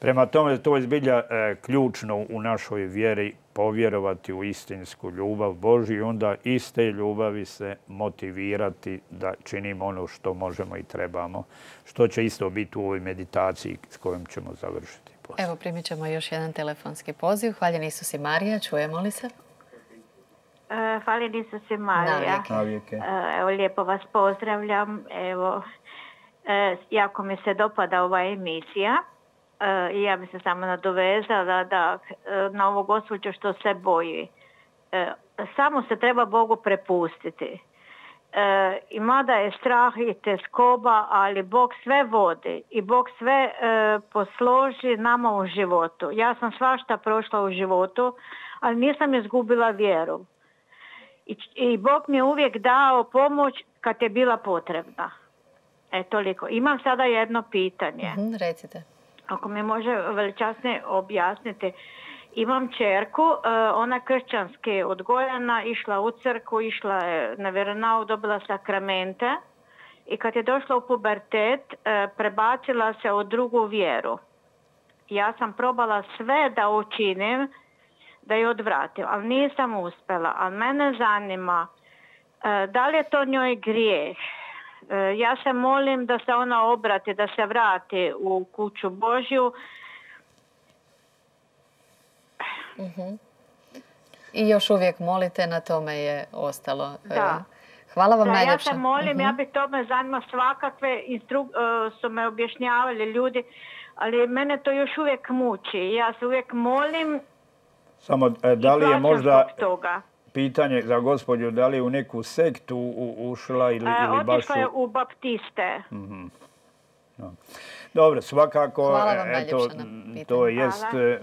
Prema tome, to je zbilja e, ključno u našoj vjeri povjerovati u istinsku ljubav Božju i onda iz te ljubavi se motivirati da činimo ono što možemo i trebamo, što će isto biti u ovoj meditaciji s kojom ćemo završiti. Evo, primit ćemo još jedan telefonski poziv. Hvaljen Isus i Marija, čujemo li se? Uh, Hvaljen Isus i Marija. Navijeke. Uh, evo, lijepo vas pozdravljam. Evo, uh, jako mi se dopada ova emisija. Uh, I ja bi se samo nadovezala da, uh, na ovo gospođo što se boji. Uh, samo se treba Bogu prepustiti. E, i mada je strah i teskoba, ali Bog sve vodi i Bog sve e, posloži nama u životu. Ja sam svašta prošla u životu, ali nisam izgubila vjeru. I, i Bog mi je uvijek dao pomoć kad je bila potrebna. E, toliko. Imam sada jedno pitanje. Mm-hmm, recite. Ako mi može veličasnije objasniti. Imam čerku, ona kršćanski odgojena, išla u crkvu, išla je na vjeronauk, dobila sakramente i kad je došla u pubertet, prebacila se u drugu vjeru. Ja sam probala sve da učinim, da je odvratim, ali nisam uspjela. Ali mene zanima, da li je to njoj grijeh? Ja se molim da se ona obrati, da se vrati u kuću Božju. Uh-huh. I još uvijek molite, na tome je ostalo. Da. Hvala vam da, najljepše. Ja se molim, uh-huh. ja bi to me zanima, svakakve instru... uh, su me objašnjavali ljudi, ali mene to još uvijek muči. Ja se uvijek molim. Samo da li je možda toga. Pitanje za gospođu, da li je u neku sektu u, ušla ili, e, ili baš u... Otišla je u baptiste. Mm-hmm. No. Dobro, svakako, Hvala vam eto, to jest... Hvala.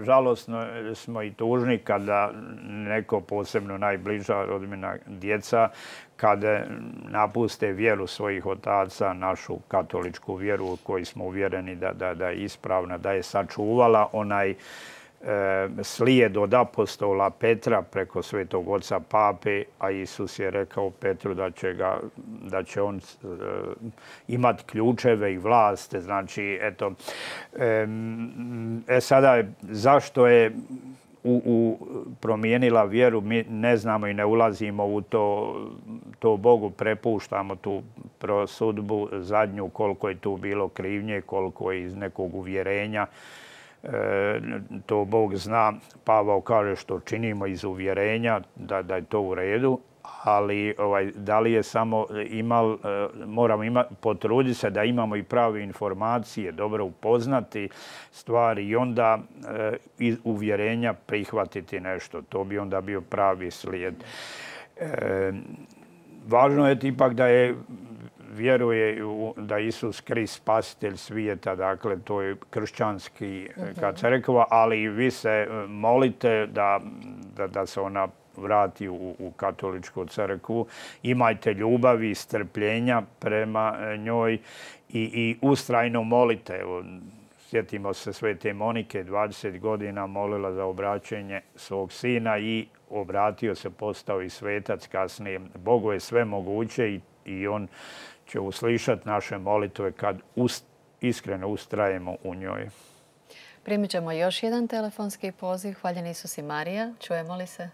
Žalosno smo i tužni kada neko, posebno najbliža rodbina djeca, kada napuste vjeru svojih otaca, našu katoličku vjeru u kojoj smo uvjereni da, da, da je ispravna, da je sačuvala onaj e, slijed od apostola Petra preko svetog oca Pape, a Isus je rekao Petru da će, ga, da će on e, imati ključeve i vlast. Znači, eto, e, e sada, zašto je u, u promijenila vjeru, mi ne znamo i ne ulazimo u to, to Bogu prepuštamo tu prosudbu zadnju, koliko je tu bilo krivnje, koliko je iz nekog uvjerenja. E, to Bog zna. Pavao kaže što činimo iz uvjerenja, da, da je to u redu, ali ovaj, da li je samo imal, e, moramo ima, potruditi se da imamo i prave informacije, dobro upoznati stvari i onda e, iz uvjerenja prihvatiti nešto. To bi onda bio pravi slijed. E, važno je ipak da je vjeruje da Isus Krist spasitelj svijeta, dakle to je kršćanski uh-huh. crkva, ali vi se molite da, da, da se ona vrati u, u katoličku crkvu. Imajte ljubavi i strpljenja prema njoj i, i ustrajno molite. Evo, sjetimo se svete Monike, dvadeset godina molila za obraćenje svog sina i obratio se, postao i svetac kasnije. Bogu je sve moguće i, i on će uslišati naše molitve kad ust, iskreno ustrajemo u njoj. Primit ćemo još jedan telefonski poziv. Hvaljen Isus i Marija. Čujemo li se?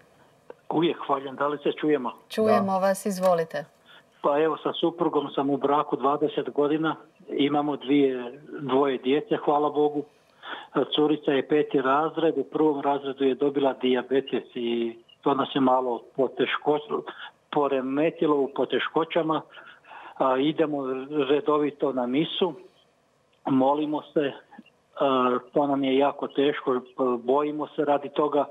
Uvijek hvaljen. Da li se čujemo? Čujemo da. vas. Izvolite. Pa evo, sa suprugom sam u braku dvadeset godina. Imamo dvije, dvoje djece, hvala Bogu. Curica je peti razred. U prvom razredu je dobila dijabetes i to nas je malo poteško, poremetilo u poteškoćama. A, idemo redovito na misu, molimo se, a, to nam je jako teško, bojimo se radi toga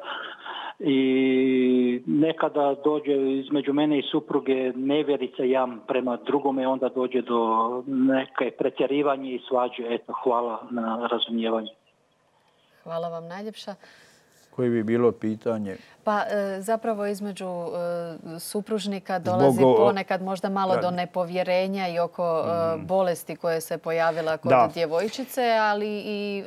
i nekada dođe između mene i supruge nevjerica jam prema drugome, onda dođe do neke pretjerivanje i svađe. Eto, hvala na razumijevanju. Hvala vam najljepša. Koje bi bilo pitanje? Pa zapravo između supružnika dolazi ponekad možda malo do nepovjerenja i oko bolesti koje se pojavila kod djevojčice, ali i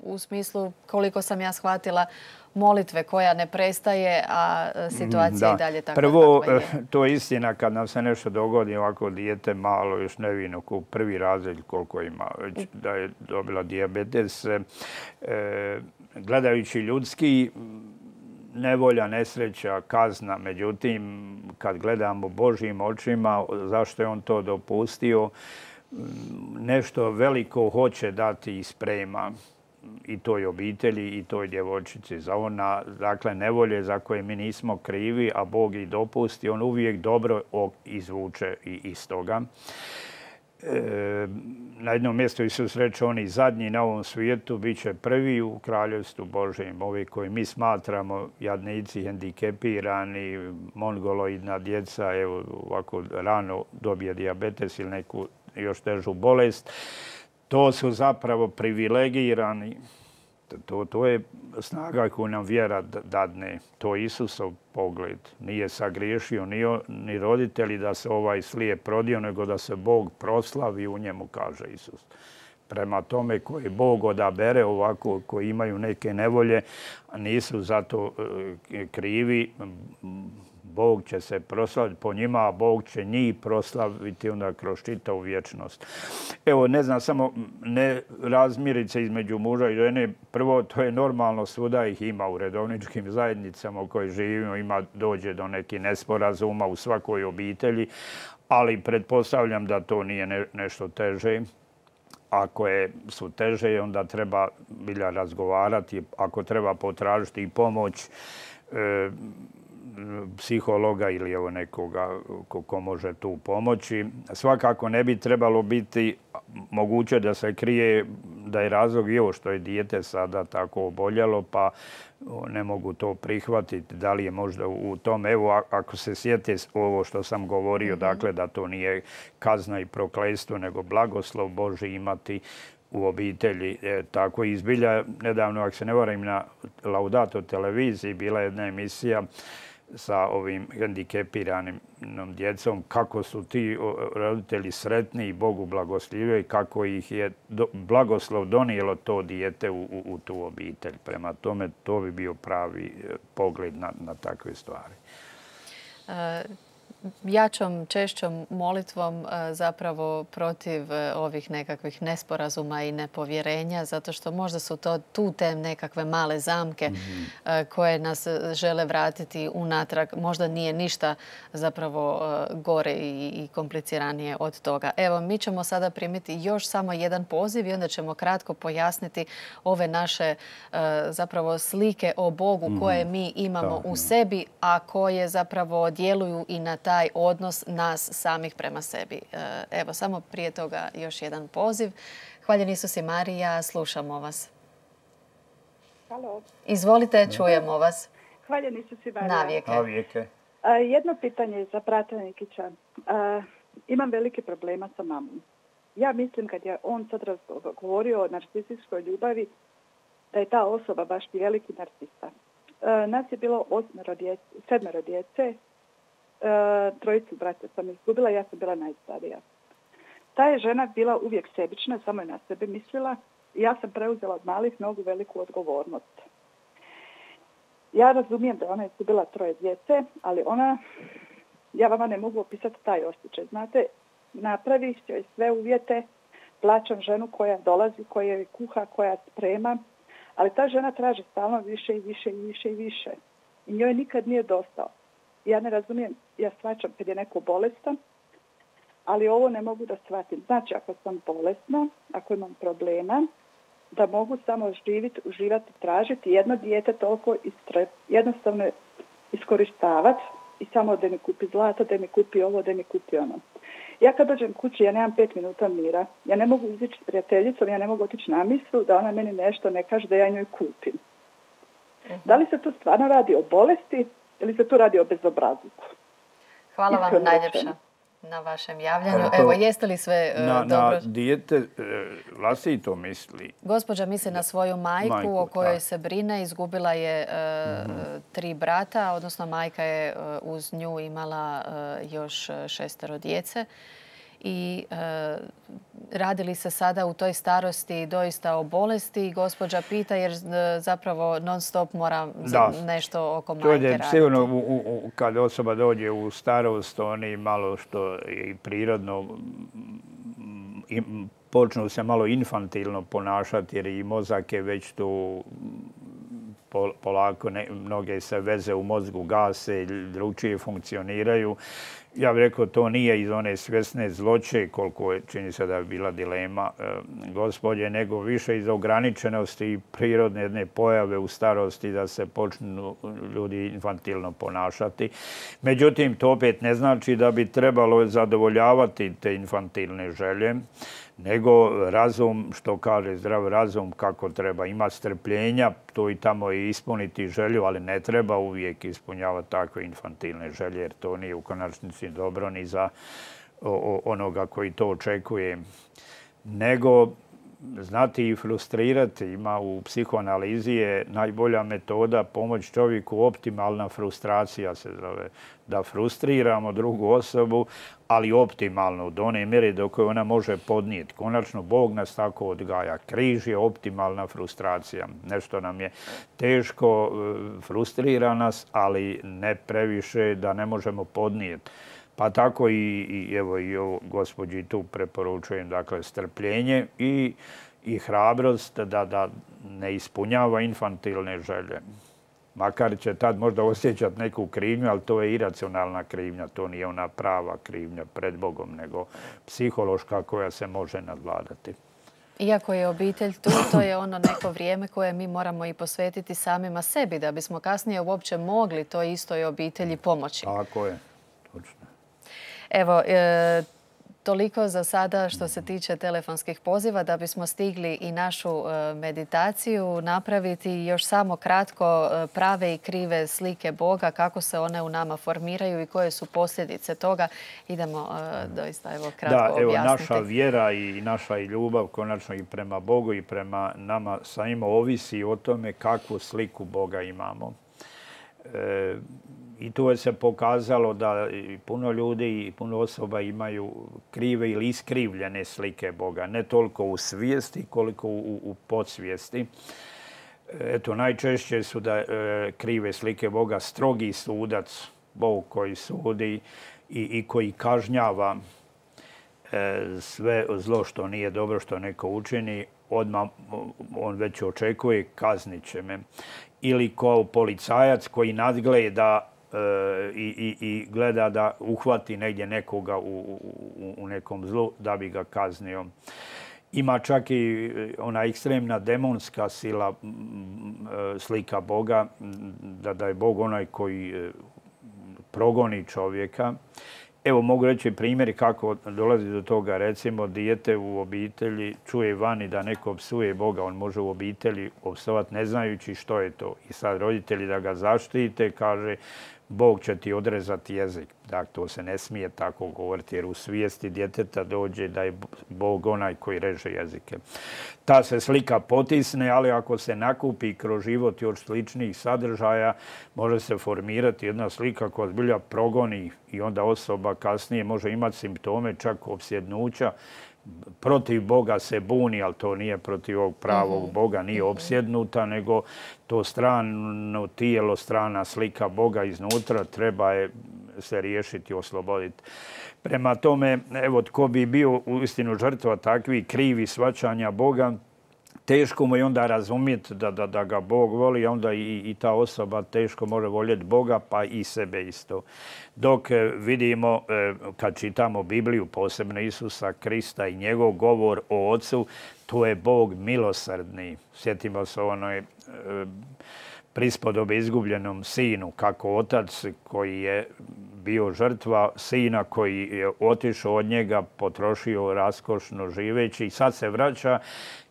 u smislu, koliko sam ja shvatila, molitve koja ne prestaje, a situacija i dalje takva Prvo, kakva je. to je istina kad nam se nešto dogodi, ovako dijete malo, još nevino, ko prvi razred koliko ima, već da je dobila dijabetes. E, gledajući ljudski, nevolja, nesreća, kazna. Međutim, kad gledamo Božjim očima, zašto je on to dopustio, nešto veliko hoće dati i sprema i toj obitelji i toj djevojčici. Za ona, dakle, nevolje za koje mi nismo krivi, a Bog ih dopusti, on uvijek dobro izvuče iz toga. E, na jednom mjestu Isus reče, oni zadnji na ovom svijetu bit će prvi u kraljevstvu Božjem. Ovi koji mi smatramo jadnici, hendikepirani, mongoloidna djeca, evo ovako rano dobije dijabetes ili neku još težu bolest. To su zapravo privilegirani. To, to je snaga koju nam vjera dadne. To je Isusov pogled. Nije sagriješio ni, ni roditelji da se ovaj slijep rodio, nego da se Bog proslavi u njemu, kaže Isus. Prema tome koji Bog odabere ovako, koji imaju neke nevolje, a nisu zato krivi, Bog će se proslaviti po njima, a Bog će njih proslaviti onda kroz čitavu vječnost. Evo, ne znam, samo ne razmirice između muža i žene. Prvo, to je normalno, svuda ih ima u redovničkim zajednicama u kojoj živimo, ima, dođe do nekih nesporazuma u svakoj obitelji, ali pretpostavljam da to nije ne, nešto teže. Ako je, su teže, onda treba bilja razgovarati, ako treba potražiti i pomoć, e, psihologa ili evo nekoga ko, ko može tu pomoći. Svakako ne bi trebalo biti moguće da se krije da je razlog i ovo što je dijete sada tako oboljelo, pa ne mogu to prihvatiti. Da li je možda u tom, evo ako se sjete ovo što sam govorio, mm-hmm. dakle da to nije kazna i prokletstvo, nego blagoslov Božji imati u obitelji. E, tako izbilja, nedavno, ako se ne varam, na Laudato televiziji bila jedna emisija sa ovim hendikepiranim djecom, kako su ti roditelji sretni i Bogu blagoslivljaju, kako ih je do, blagoslov donijelo to dijete u, u, u tu obitelj. Prema tome, to bi bio pravi pogled na, na takve stvari. E jačom, češćom molitvom zapravo protiv ovih nekakvih nesporazuma i nepovjerenja, zato što možda su to tu te nekakve male zamke mm-hmm. koje nas žele vratiti unatrag. Možda nije ništa zapravo gore i kompliciranije od toga. Evo, mi ćemo sada primiti još samo jedan poziv i onda ćemo kratko pojasniti ove naše zapravo slike o Bogu mm-hmm. koje mi imamo da, u sebi, a koje zapravo djeluju i na taj odnos nas samih prema sebi. Evo, samo prije toga još jedan poziv. Hvaljen Isus i Marija, slušamo vas. Halo. Izvolite, čujemo vas. Hvaljen Isus i Marija. Navijeke. Navijeke. Jedno pitanje za brata Nikića. Imam velike problema sa mamom. Ja mislim kad je on sad govorio o narcisističkoj ljubavi, da je ta osoba baš i veliki narcista. Nas je bilo osmero djece, sedmero djece, trojicu brata sam izgubila, ja sam bila najstarija. Ta je žena bila uvijek sebična, samo je na sebe mislila i ja sam preuzela od malih nogu veliku odgovornost. Ja razumijem da ona je izgubila troje djece, ali ona, ja vama ne mogu opisati taj osjećaj. Znate, napravi joj sve uvjete, plaćam ženu koja dolazi, koja je kuha, koja sprema, ali ta žena traži stalno više i više i više i više. I njoj nikad nije dosta. Ja ne razumijem, ja shvaćam kad je neko bolestan, ali ovo ne mogu da shvatim. Znači, ako sam bolesna, ako imam problema, da mogu samo živjeti, uživati, tražiti jedno dijete toliko istre, jednostavno iskorištavati i samo da mi kupi zlato, da mi kupi ovo, da mi kupi ono. Ja kad dođem kući, ja nemam pet minuta mira. Ja ne mogu izići s prijateljicom, ja ne mogu otići na mislu da ona meni nešto ne kaže da ja njoj kupim. Uh-huh. Da li se tu stvarno radi o bolesti ili se tu radi o bezobrazluku? Hvala vam najljepša. na vašem javljanju. Evo, jeste li sve dobro? Na dijete vlastito misli? Gospođa misli na svoju majku o kojoj se brine. Izgubila je tri brata, odnosno majka je uz nju imala još šestero djece. I radi li se sada u toj starosti doista o bolesti? Gospođa pita jer zapravo non stop mora nešto oko majke raditi. Sigurno kad osoba dođe u starost, oni malo što je i prirodno počnu se malo infantilno ponašati jer i mozak je već tu polako, mnoge se veze u mozgu gase, drugčije funkcioniraju. Ja bih rekao, to nije iz one svjesne zloće, koliko je, čini se da je bila dilema gospođe, nego više iz ograničenosti i prirodne jedne pojave u starosti da se počnu ljudi infantilno ponašati. Međutim, to opet ne znači da bi trebalo zadovoljavati te infantilne želje, nego razum, što kaže zdrav razum, kako treba imati strpljenja, to i tamo i ispuniti želju, ali ne treba uvijek ispunjavati takve infantilne želje, jer to nije u konačnici dobro ni za onoga koji to očekuje. Nego znati i frustrirati. Ima u psihoanalizi je najbolja metoda pomoć čovjeku, optimalna frustracija se zove. Da frustriramo drugu osobu, ali optimalno, do one mjere do koje ona može podnijeti. Konačno, Bog nas tako odgaja. Križ je optimalna frustracija. Nešto nam je teško, frustrira nas, ali ne previše da ne možemo podnijeti. Pa tako i, evo, i ovo gospođi tu preporučujem, dakle, strpljenje i, i hrabrost da, da ne ispunjava infantilne želje. Makar će tad možda osjećati neku krivnju, ali to je iracionalna krivnja, to nije ona prava krivnja pred Bogom, nego psihološka koja se može nadvladati. Iako je obitelj tu, to je ono neko vrijeme koje mi moramo i posvetiti samima sebi, da bismo kasnije uopće mogli toj istoj obitelji pomoći. Tako je, točno. Evo, e, toliko za sada što se tiče telefonskih poziva. Da bismo stigli i našu e, meditaciju napraviti, još samo kratko e, prave i krive slike Boga, kako se one u nama formiraju i koje su posljedice toga. Idemo e, doista evo, kratko da, evo, objasniti. Naša vjera i naša i ljubav, konačno i prema Bogu i prema nama samima, ovisi o tome kakvu sliku Boga imamo. E, I tu je se pokazalo da puno ljudi i puno osoba imaju krive ili iskrivljene slike Boga. Ne toliko u svijesti koliko u, u podsvijesti. Eto, najčešće su da e, krive slike Boga strogi sudac, Bog koji sudi i, i koji kažnjava e, sve zlo što nije dobro, što neko učini. Odmah on već očekuje, kaznit će me. Ili kao policajac koji nadgleda I, i, i gleda da uhvati negdje nekoga u, u, u nekom zlu da bi ga kaznio. Ima čak i ona ekstremna demonska sila, slika Boga, da, da je Bog onaj koji progoni čovjeka. Evo, mogu reći primjer kako dolazi do toga. Recimo, dijete u obitelji čuje vani da neko psuje Boga. On može u obitelji opsovati ne znajući što je to. I sad roditelji da ga zaštite, kaže, Bog će ti odrezati jezik. Dakle, to se ne smije tako govoriti, jer u svijesti djeteta dođe da je Bog onaj koji reže jezike. Ta se slika potisne, ali ako se nakupi kroz život još sličnih sadržaja, može se formirati jedna slika koja zbilja progoni i onda osoba kasnije može imati simptome čak opsjednuća. Protiv Boga se buni, ali to nije protiv ovog pravog Boga, nije opsjednuta, nego to strano tijelo, strana slika Boga iznutra treba je se riješiti, osloboditi. Prema tome, evo, tko bi bio uistinu žrtva takvih krivi shvaćanja Boga, teško mu je onda razumjeti da, da, da ga Bog voli, a onda i, i ta osoba teško može voljeti Boga, pa i sebe isto. Dok vidimo, kad čitamo Bibliju, posebno Isusa Krista i njegov govor o Otcu, to je Bog milosrdni. Sjetimo se onoj prispodobe izgubljenom sinu, kako otac koji je bio žrtva sina koji je otišao od njega, potrošio raskošno živeći i sad se vraća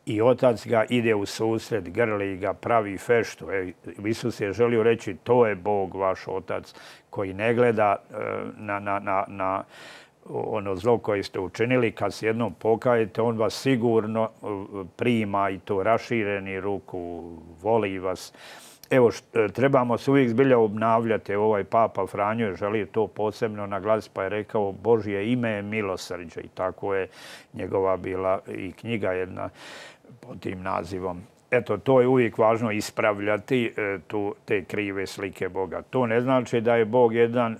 i otac ga ide u susret, grli ga, pravi feštu. E, Isus je želio reći, to je Bog, vaš otac, koji ne gleda na, na, na, na ono zlo koje ste učinili, kad se jednom pokajete, on vas sigurno prima i to rašireni ruku, voli vas. Evo, trebamo se uvijek zbilja obnavljati. Ovaj Papa Franjo je želio to posebno naglasiti, pa je rekao Božje ime je milosrđe i tako je njegova bila i knjiga jedna pod tim nazivom. Eto, to je uvijek važno ispravljati tu, te krive slike Boga. To ne znači da je Bog jedan e,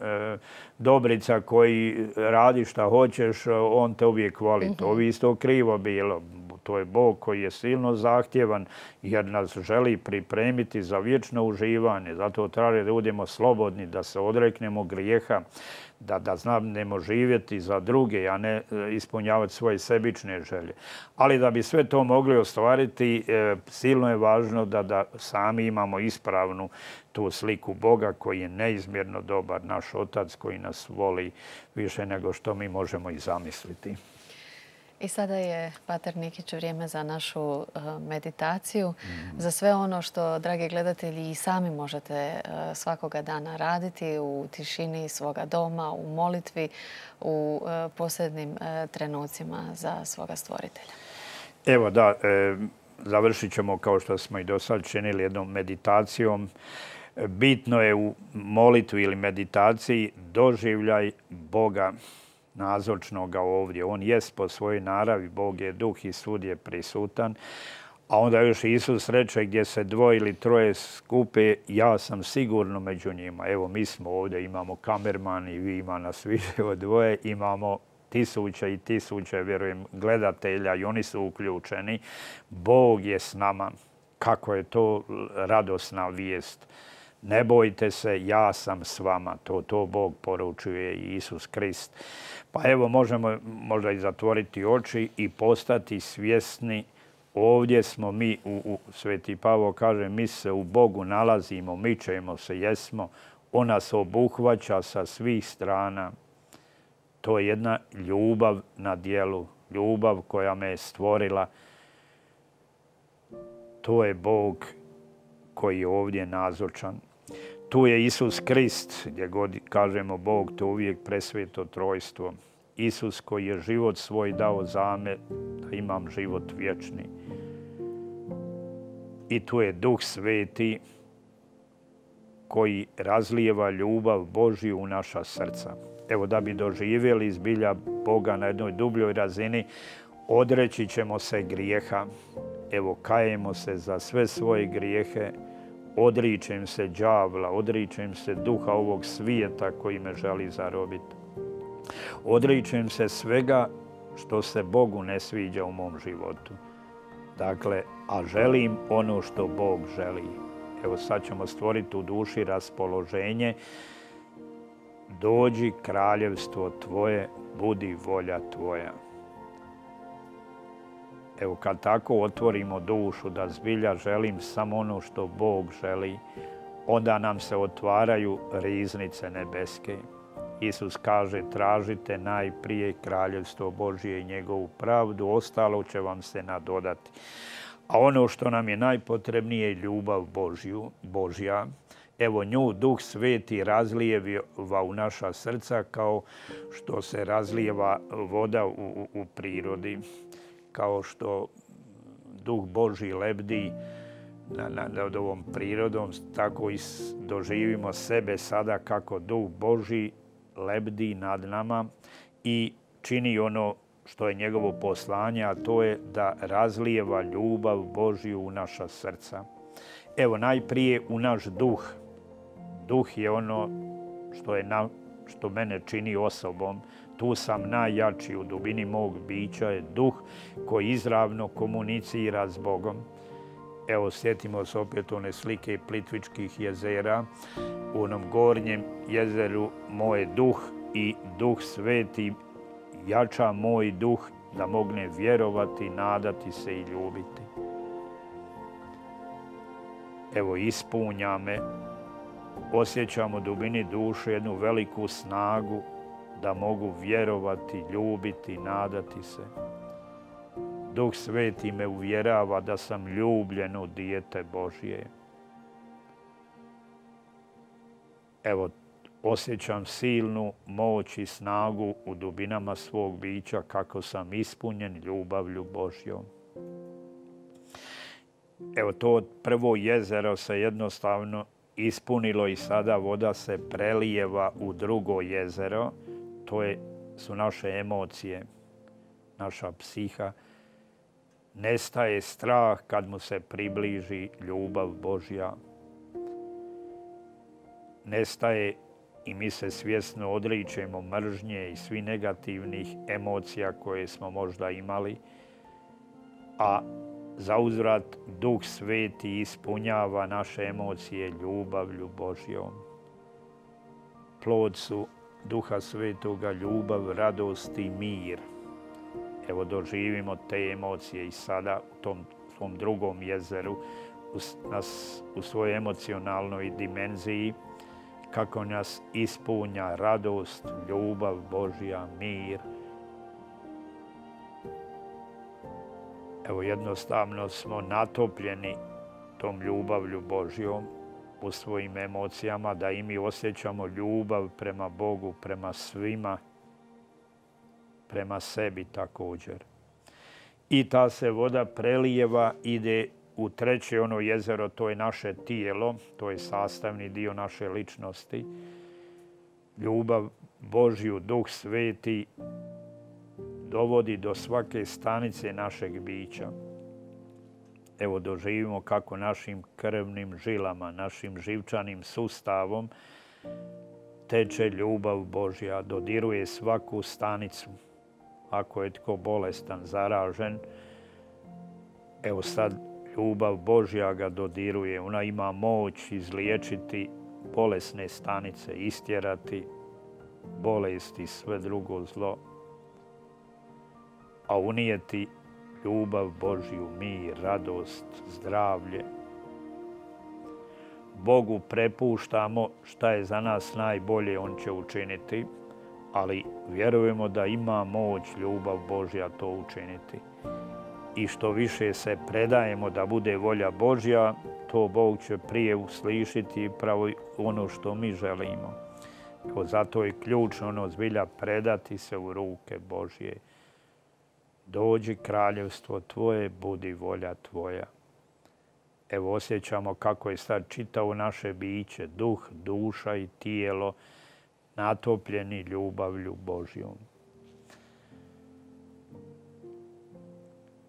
dobrica koji radi šta hoćeš, on te uvijek voli. Mm-hmm. To bi isto krivo bilo. To je Bog koji je silno zahtjevan jer nas želi pripremiti za vječno uživanje. Zato traži da budemo slobodni, da se odreknemo grijeha, da, da znamo živjeti za druge, a ne ispunjavati svoje sebične želje. Ali da bi sve to mogli ostvariti, e, silno je važno da, da sami imamo ispravnu tu sliku Boga koji je neizmjerno dobar, naš Otac koji nas voli više nego što mi možemo i zamisliti. I sada je, pater Nikić, vrijeme za našu meditaciju, mm. za sve ono što, dragi gledatelji, i sami možete svakoga dana raditi u tišini svoga doma, u molitvi, u posljednim trenucima za svoga stvoritelja. Evo da, e, završit ćemo kao što smo i do sad činili jednom meditacijom. Bitno je u molitvi ili meditaciji doživljaj Boga nazočnoga ovdje. On jest po svojoj naravi, Bog je duh i svud je prisutan. A onda još Isus reče gdje se dvoje ili troje skupe, ja sam sigurno među njima. Evo, mi smo ovdje, imamo kamerman i vi ima nas više od dvoje, imamo tisuće i tisuće, vjerujem, gledatelja i oni su uključeni. Bog je s nama. Kako je to radosna vijest. Ne bojte se, ja sam s vama. To, to Bog poručuje i Isus Krist. Pa evo, možemo možda i zatvoriti oči i postati svjesni. Ovdje smo mi, u, u, Sveti Pavao kaže, mi se u Bogu nalazimo, mičemo se, jesmo. On nas obuhvaća sa svih strana. To je jedna ljubav na djelu, ljubav koja me je stvorila. To je Bog koji je ovdje nazočan. Tu je Isus Krist, gdje god kažemo Bog, to uvijek presveto trojstvo. Isus koji je život svoj dao za me, da imam život vječni. I tu je Duh Sveti koji razlijeva ljubav Božju u naša srca. Evo, da bi doživjeli zbilja Boga na jednoj dubljoj razini, odreći ćemo se grijeha. Evo, kajemo se za sve svoje grijehe, odričem se đavla, odričem se duha ovog svijeta koji me želi zarobiti. Odričem se svega što se Bogu ne sviđa u mom životu. Dakle, a želim ono što Bog želi. Evo, sad ćemo stvoriti u duši raspoloženje. Dođi kraljevstvo tvoje, budi volja tvoja. Evo, kad tako otvorimo dušu da zbilja želim samo ono što Bog želi, onda nam se otvaraju riznice nebeske. Isus kaže, tražite najprije kraljevstvo Božje i njegovu pravdu, ostalo će vam se nadodati. A ono što nam je najpotrebnije je ljubav Božju, Božja. Evo, nju Duh Sveti razlijeva u naša srca kao što se razlijeva voda u, u, u prirodi. Kao što Duh Božji lebdi nad, nad ovom prirodom, tako i doživimo sebe sada kako Duh Božji lebdi nad nama i čini ono što je njegovo poslanje, a to je da razlijeva ljubav Božju u naša srca. Evo, najprije u naš duh. Duh je ono što, je na, što mene čini osobom. Tu sam najjači, u dubini mog bića je duh koji izravno komunicira s Bogom. Evo, sjetimo se opet one slike Plitvičkih jezera. U onom gornjem jezeru moj duh i Duh Sveti jača moj duh da mogne vjerovati, nadati se i ljubiti. Evo, ispunja me, osjećam u dubini duše jednu veliku snagu da mogu vjerovati, ljubiti, nadati se. Duh Sveti me uvjerava da sam ljubljeno dijete Božje. Evo, osjećam silnu moć i snagu u dubinama svog bića kako sam ispunjen ljubavlju Božjom. Evo, to prvo jezero se jednostavno ispunilo i sada voda se prelijeva u drugo jezero. To je, su naše emocije, naša psiha. Nestaje strah kad mu se približi ljubav Božja. Nestaje i mi se svjesno odričemo mržnje i svih negativnih emocija koje smo možda imali, a zauzvrat Duh Sveti ispunjava naše emocije ljubavlju Božjom. Plod su Duha Svetoga ljubav, radost i mir. Evo, doživimo te emocije i sada u tom svom drugom jezeru, u, nas, u svojoj emocionalnoj dimenziji, kako nas ispunja radost, ljubav Božja, mir. Evo, jednostavno smo natopljeni tom ljubavlju Božjom u svojim emocijama, da i mi osjećamo ljubav prema Bogu, prema svima, prema sebi također. I ta se voda prelijeva, ide u treće ono jezero, to je naše tijelo, to je sastavni dio naše ličnosti. Ljubav Božju, Duh Sveti dovodi do svake stanice našeg bića. Evo, doživimo kako našim krvnim žilama, našim živčanim sustavom teče ljubav Božja, dodiruje svaku stanicu. Ako je tko bolestan, zaražen, evo sad ljubav Božja ga dodiruje. Ona ima moć izliječiti bolesne stanice, istjerati bolesti, sve drugo zlo, a unijeti ljubav Božju, mir, radost, zdravlje. Bogu prepuštamo šta je za nas najbolje, on će učiniti, ali vjerujemo da ima moć ljubav Božja to učiniti. I što više se predajemo da bude volja Božja, to Bog će prije uslišiti pravo ono što mi želimo. Evo, zato je ključno ono zbilja predati se u ruke Božje. Dođi kraljevstvo Tvoje, budi volja Tvoja. Evo, osjećamo kako je sad čitavo naše biće, duh, duša i tijelo, natopljeni ljubavlju Božjom.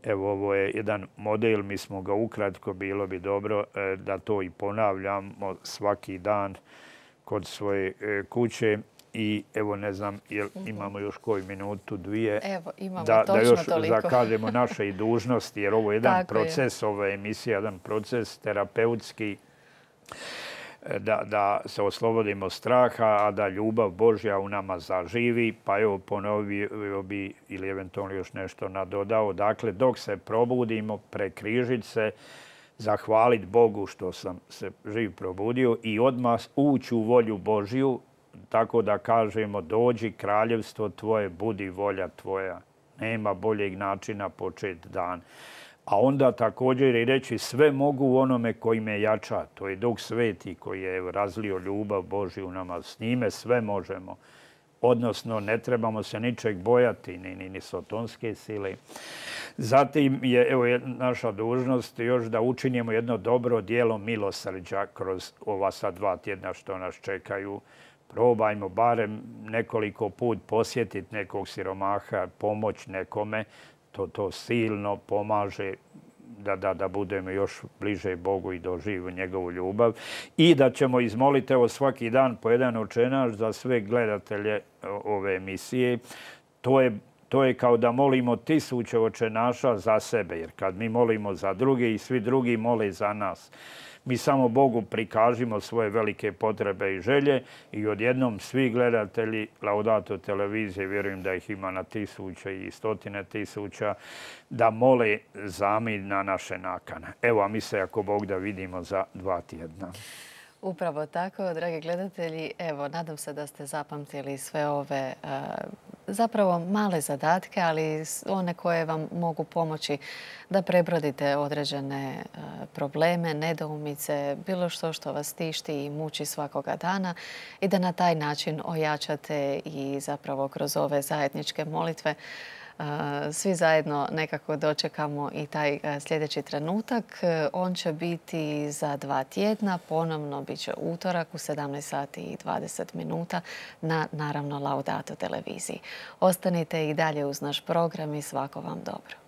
Evo, ovo je jedan model, mi smo ga ukratko, bilo bi dobro da to i ponavljamo svaki dan kod svoje kuće. I evo, ne znam, jel imamo još koju minutu, dvije, evo, imamo da, točno da još toliko. zakažemo naše i dužnosti, jer ovo je jedan Tako proces, je. ova emisija, jedan proces terapeutski, da, da se oslobodimo straha, a da ljubav Božja u nama zaživi. Pa evo, ponovio bi ili eventualno još nešto nadodao. Dakle, dok se probudimo, prekrižiti se, zahvaliti Bogu što sam se živ probudio i odmah ući u volju Božju, tako da kažemo dođi kraljevstvo Tvoje, budi volja Tvoja. Nema boljeg načina početi dan. A onda također i reći sve mogu u onome koji me jača. To je Duh Sveti koji je razlio ljubav Božju u nama. S njime sve možemo. Odnosno, ne trebamo se ničeg bojati, ni, ni, ni sotonske sile. Zatim je evo, naša dužnost još da učinimo jedno dobro djelo milosrđa kroz ova sad dva tjedna što nas čekaju. Probajmo barem nekoliko put posjetiti nekog siromaha, pomoć nekome. To, to silno pomaže da, da, da budemo još bliže Bogu i doživimo njegovu ljubav. I da ćemo izmoliti evo, svaki dan po jedan očenaš za sve gledatelje ove emisije. To je, to je kao da molimo tisuće očenaša za sebe, jer kad mi molimo za druge i svi drugi mole za nas. Mi samo Bogu prikažimo svoje velike potrebe i želje i odjednom svi gledatelji Laudato televizije, vjerujem da ih ima na tisuće i stotine tisuća, da mole za mir na naše nakane. Evo, a mi se ako Bog da vidimo za dva tjedna. Upravo tako, dragi gledatelji. Evo, nadam se da ste zapamtili sve ove uh, zapravo male zadatke, ali one koje vam mogu pomoći da prebrodite određene probleme, nedoumice, bilo što što vas tišti i muči svakoga dana i da na taj način ojačate i zapravo kroz ove zajedničke molitve svi zajedno nekako dočekamo i taj sljedeći trenutak. On će biti za dva tjedna. Ponovno bit će utorak u sedamnaest sati i dvadeset minuta na, naravno, Laudato televiziji. Ostanite i dalje uz naš program i svako vam dobro.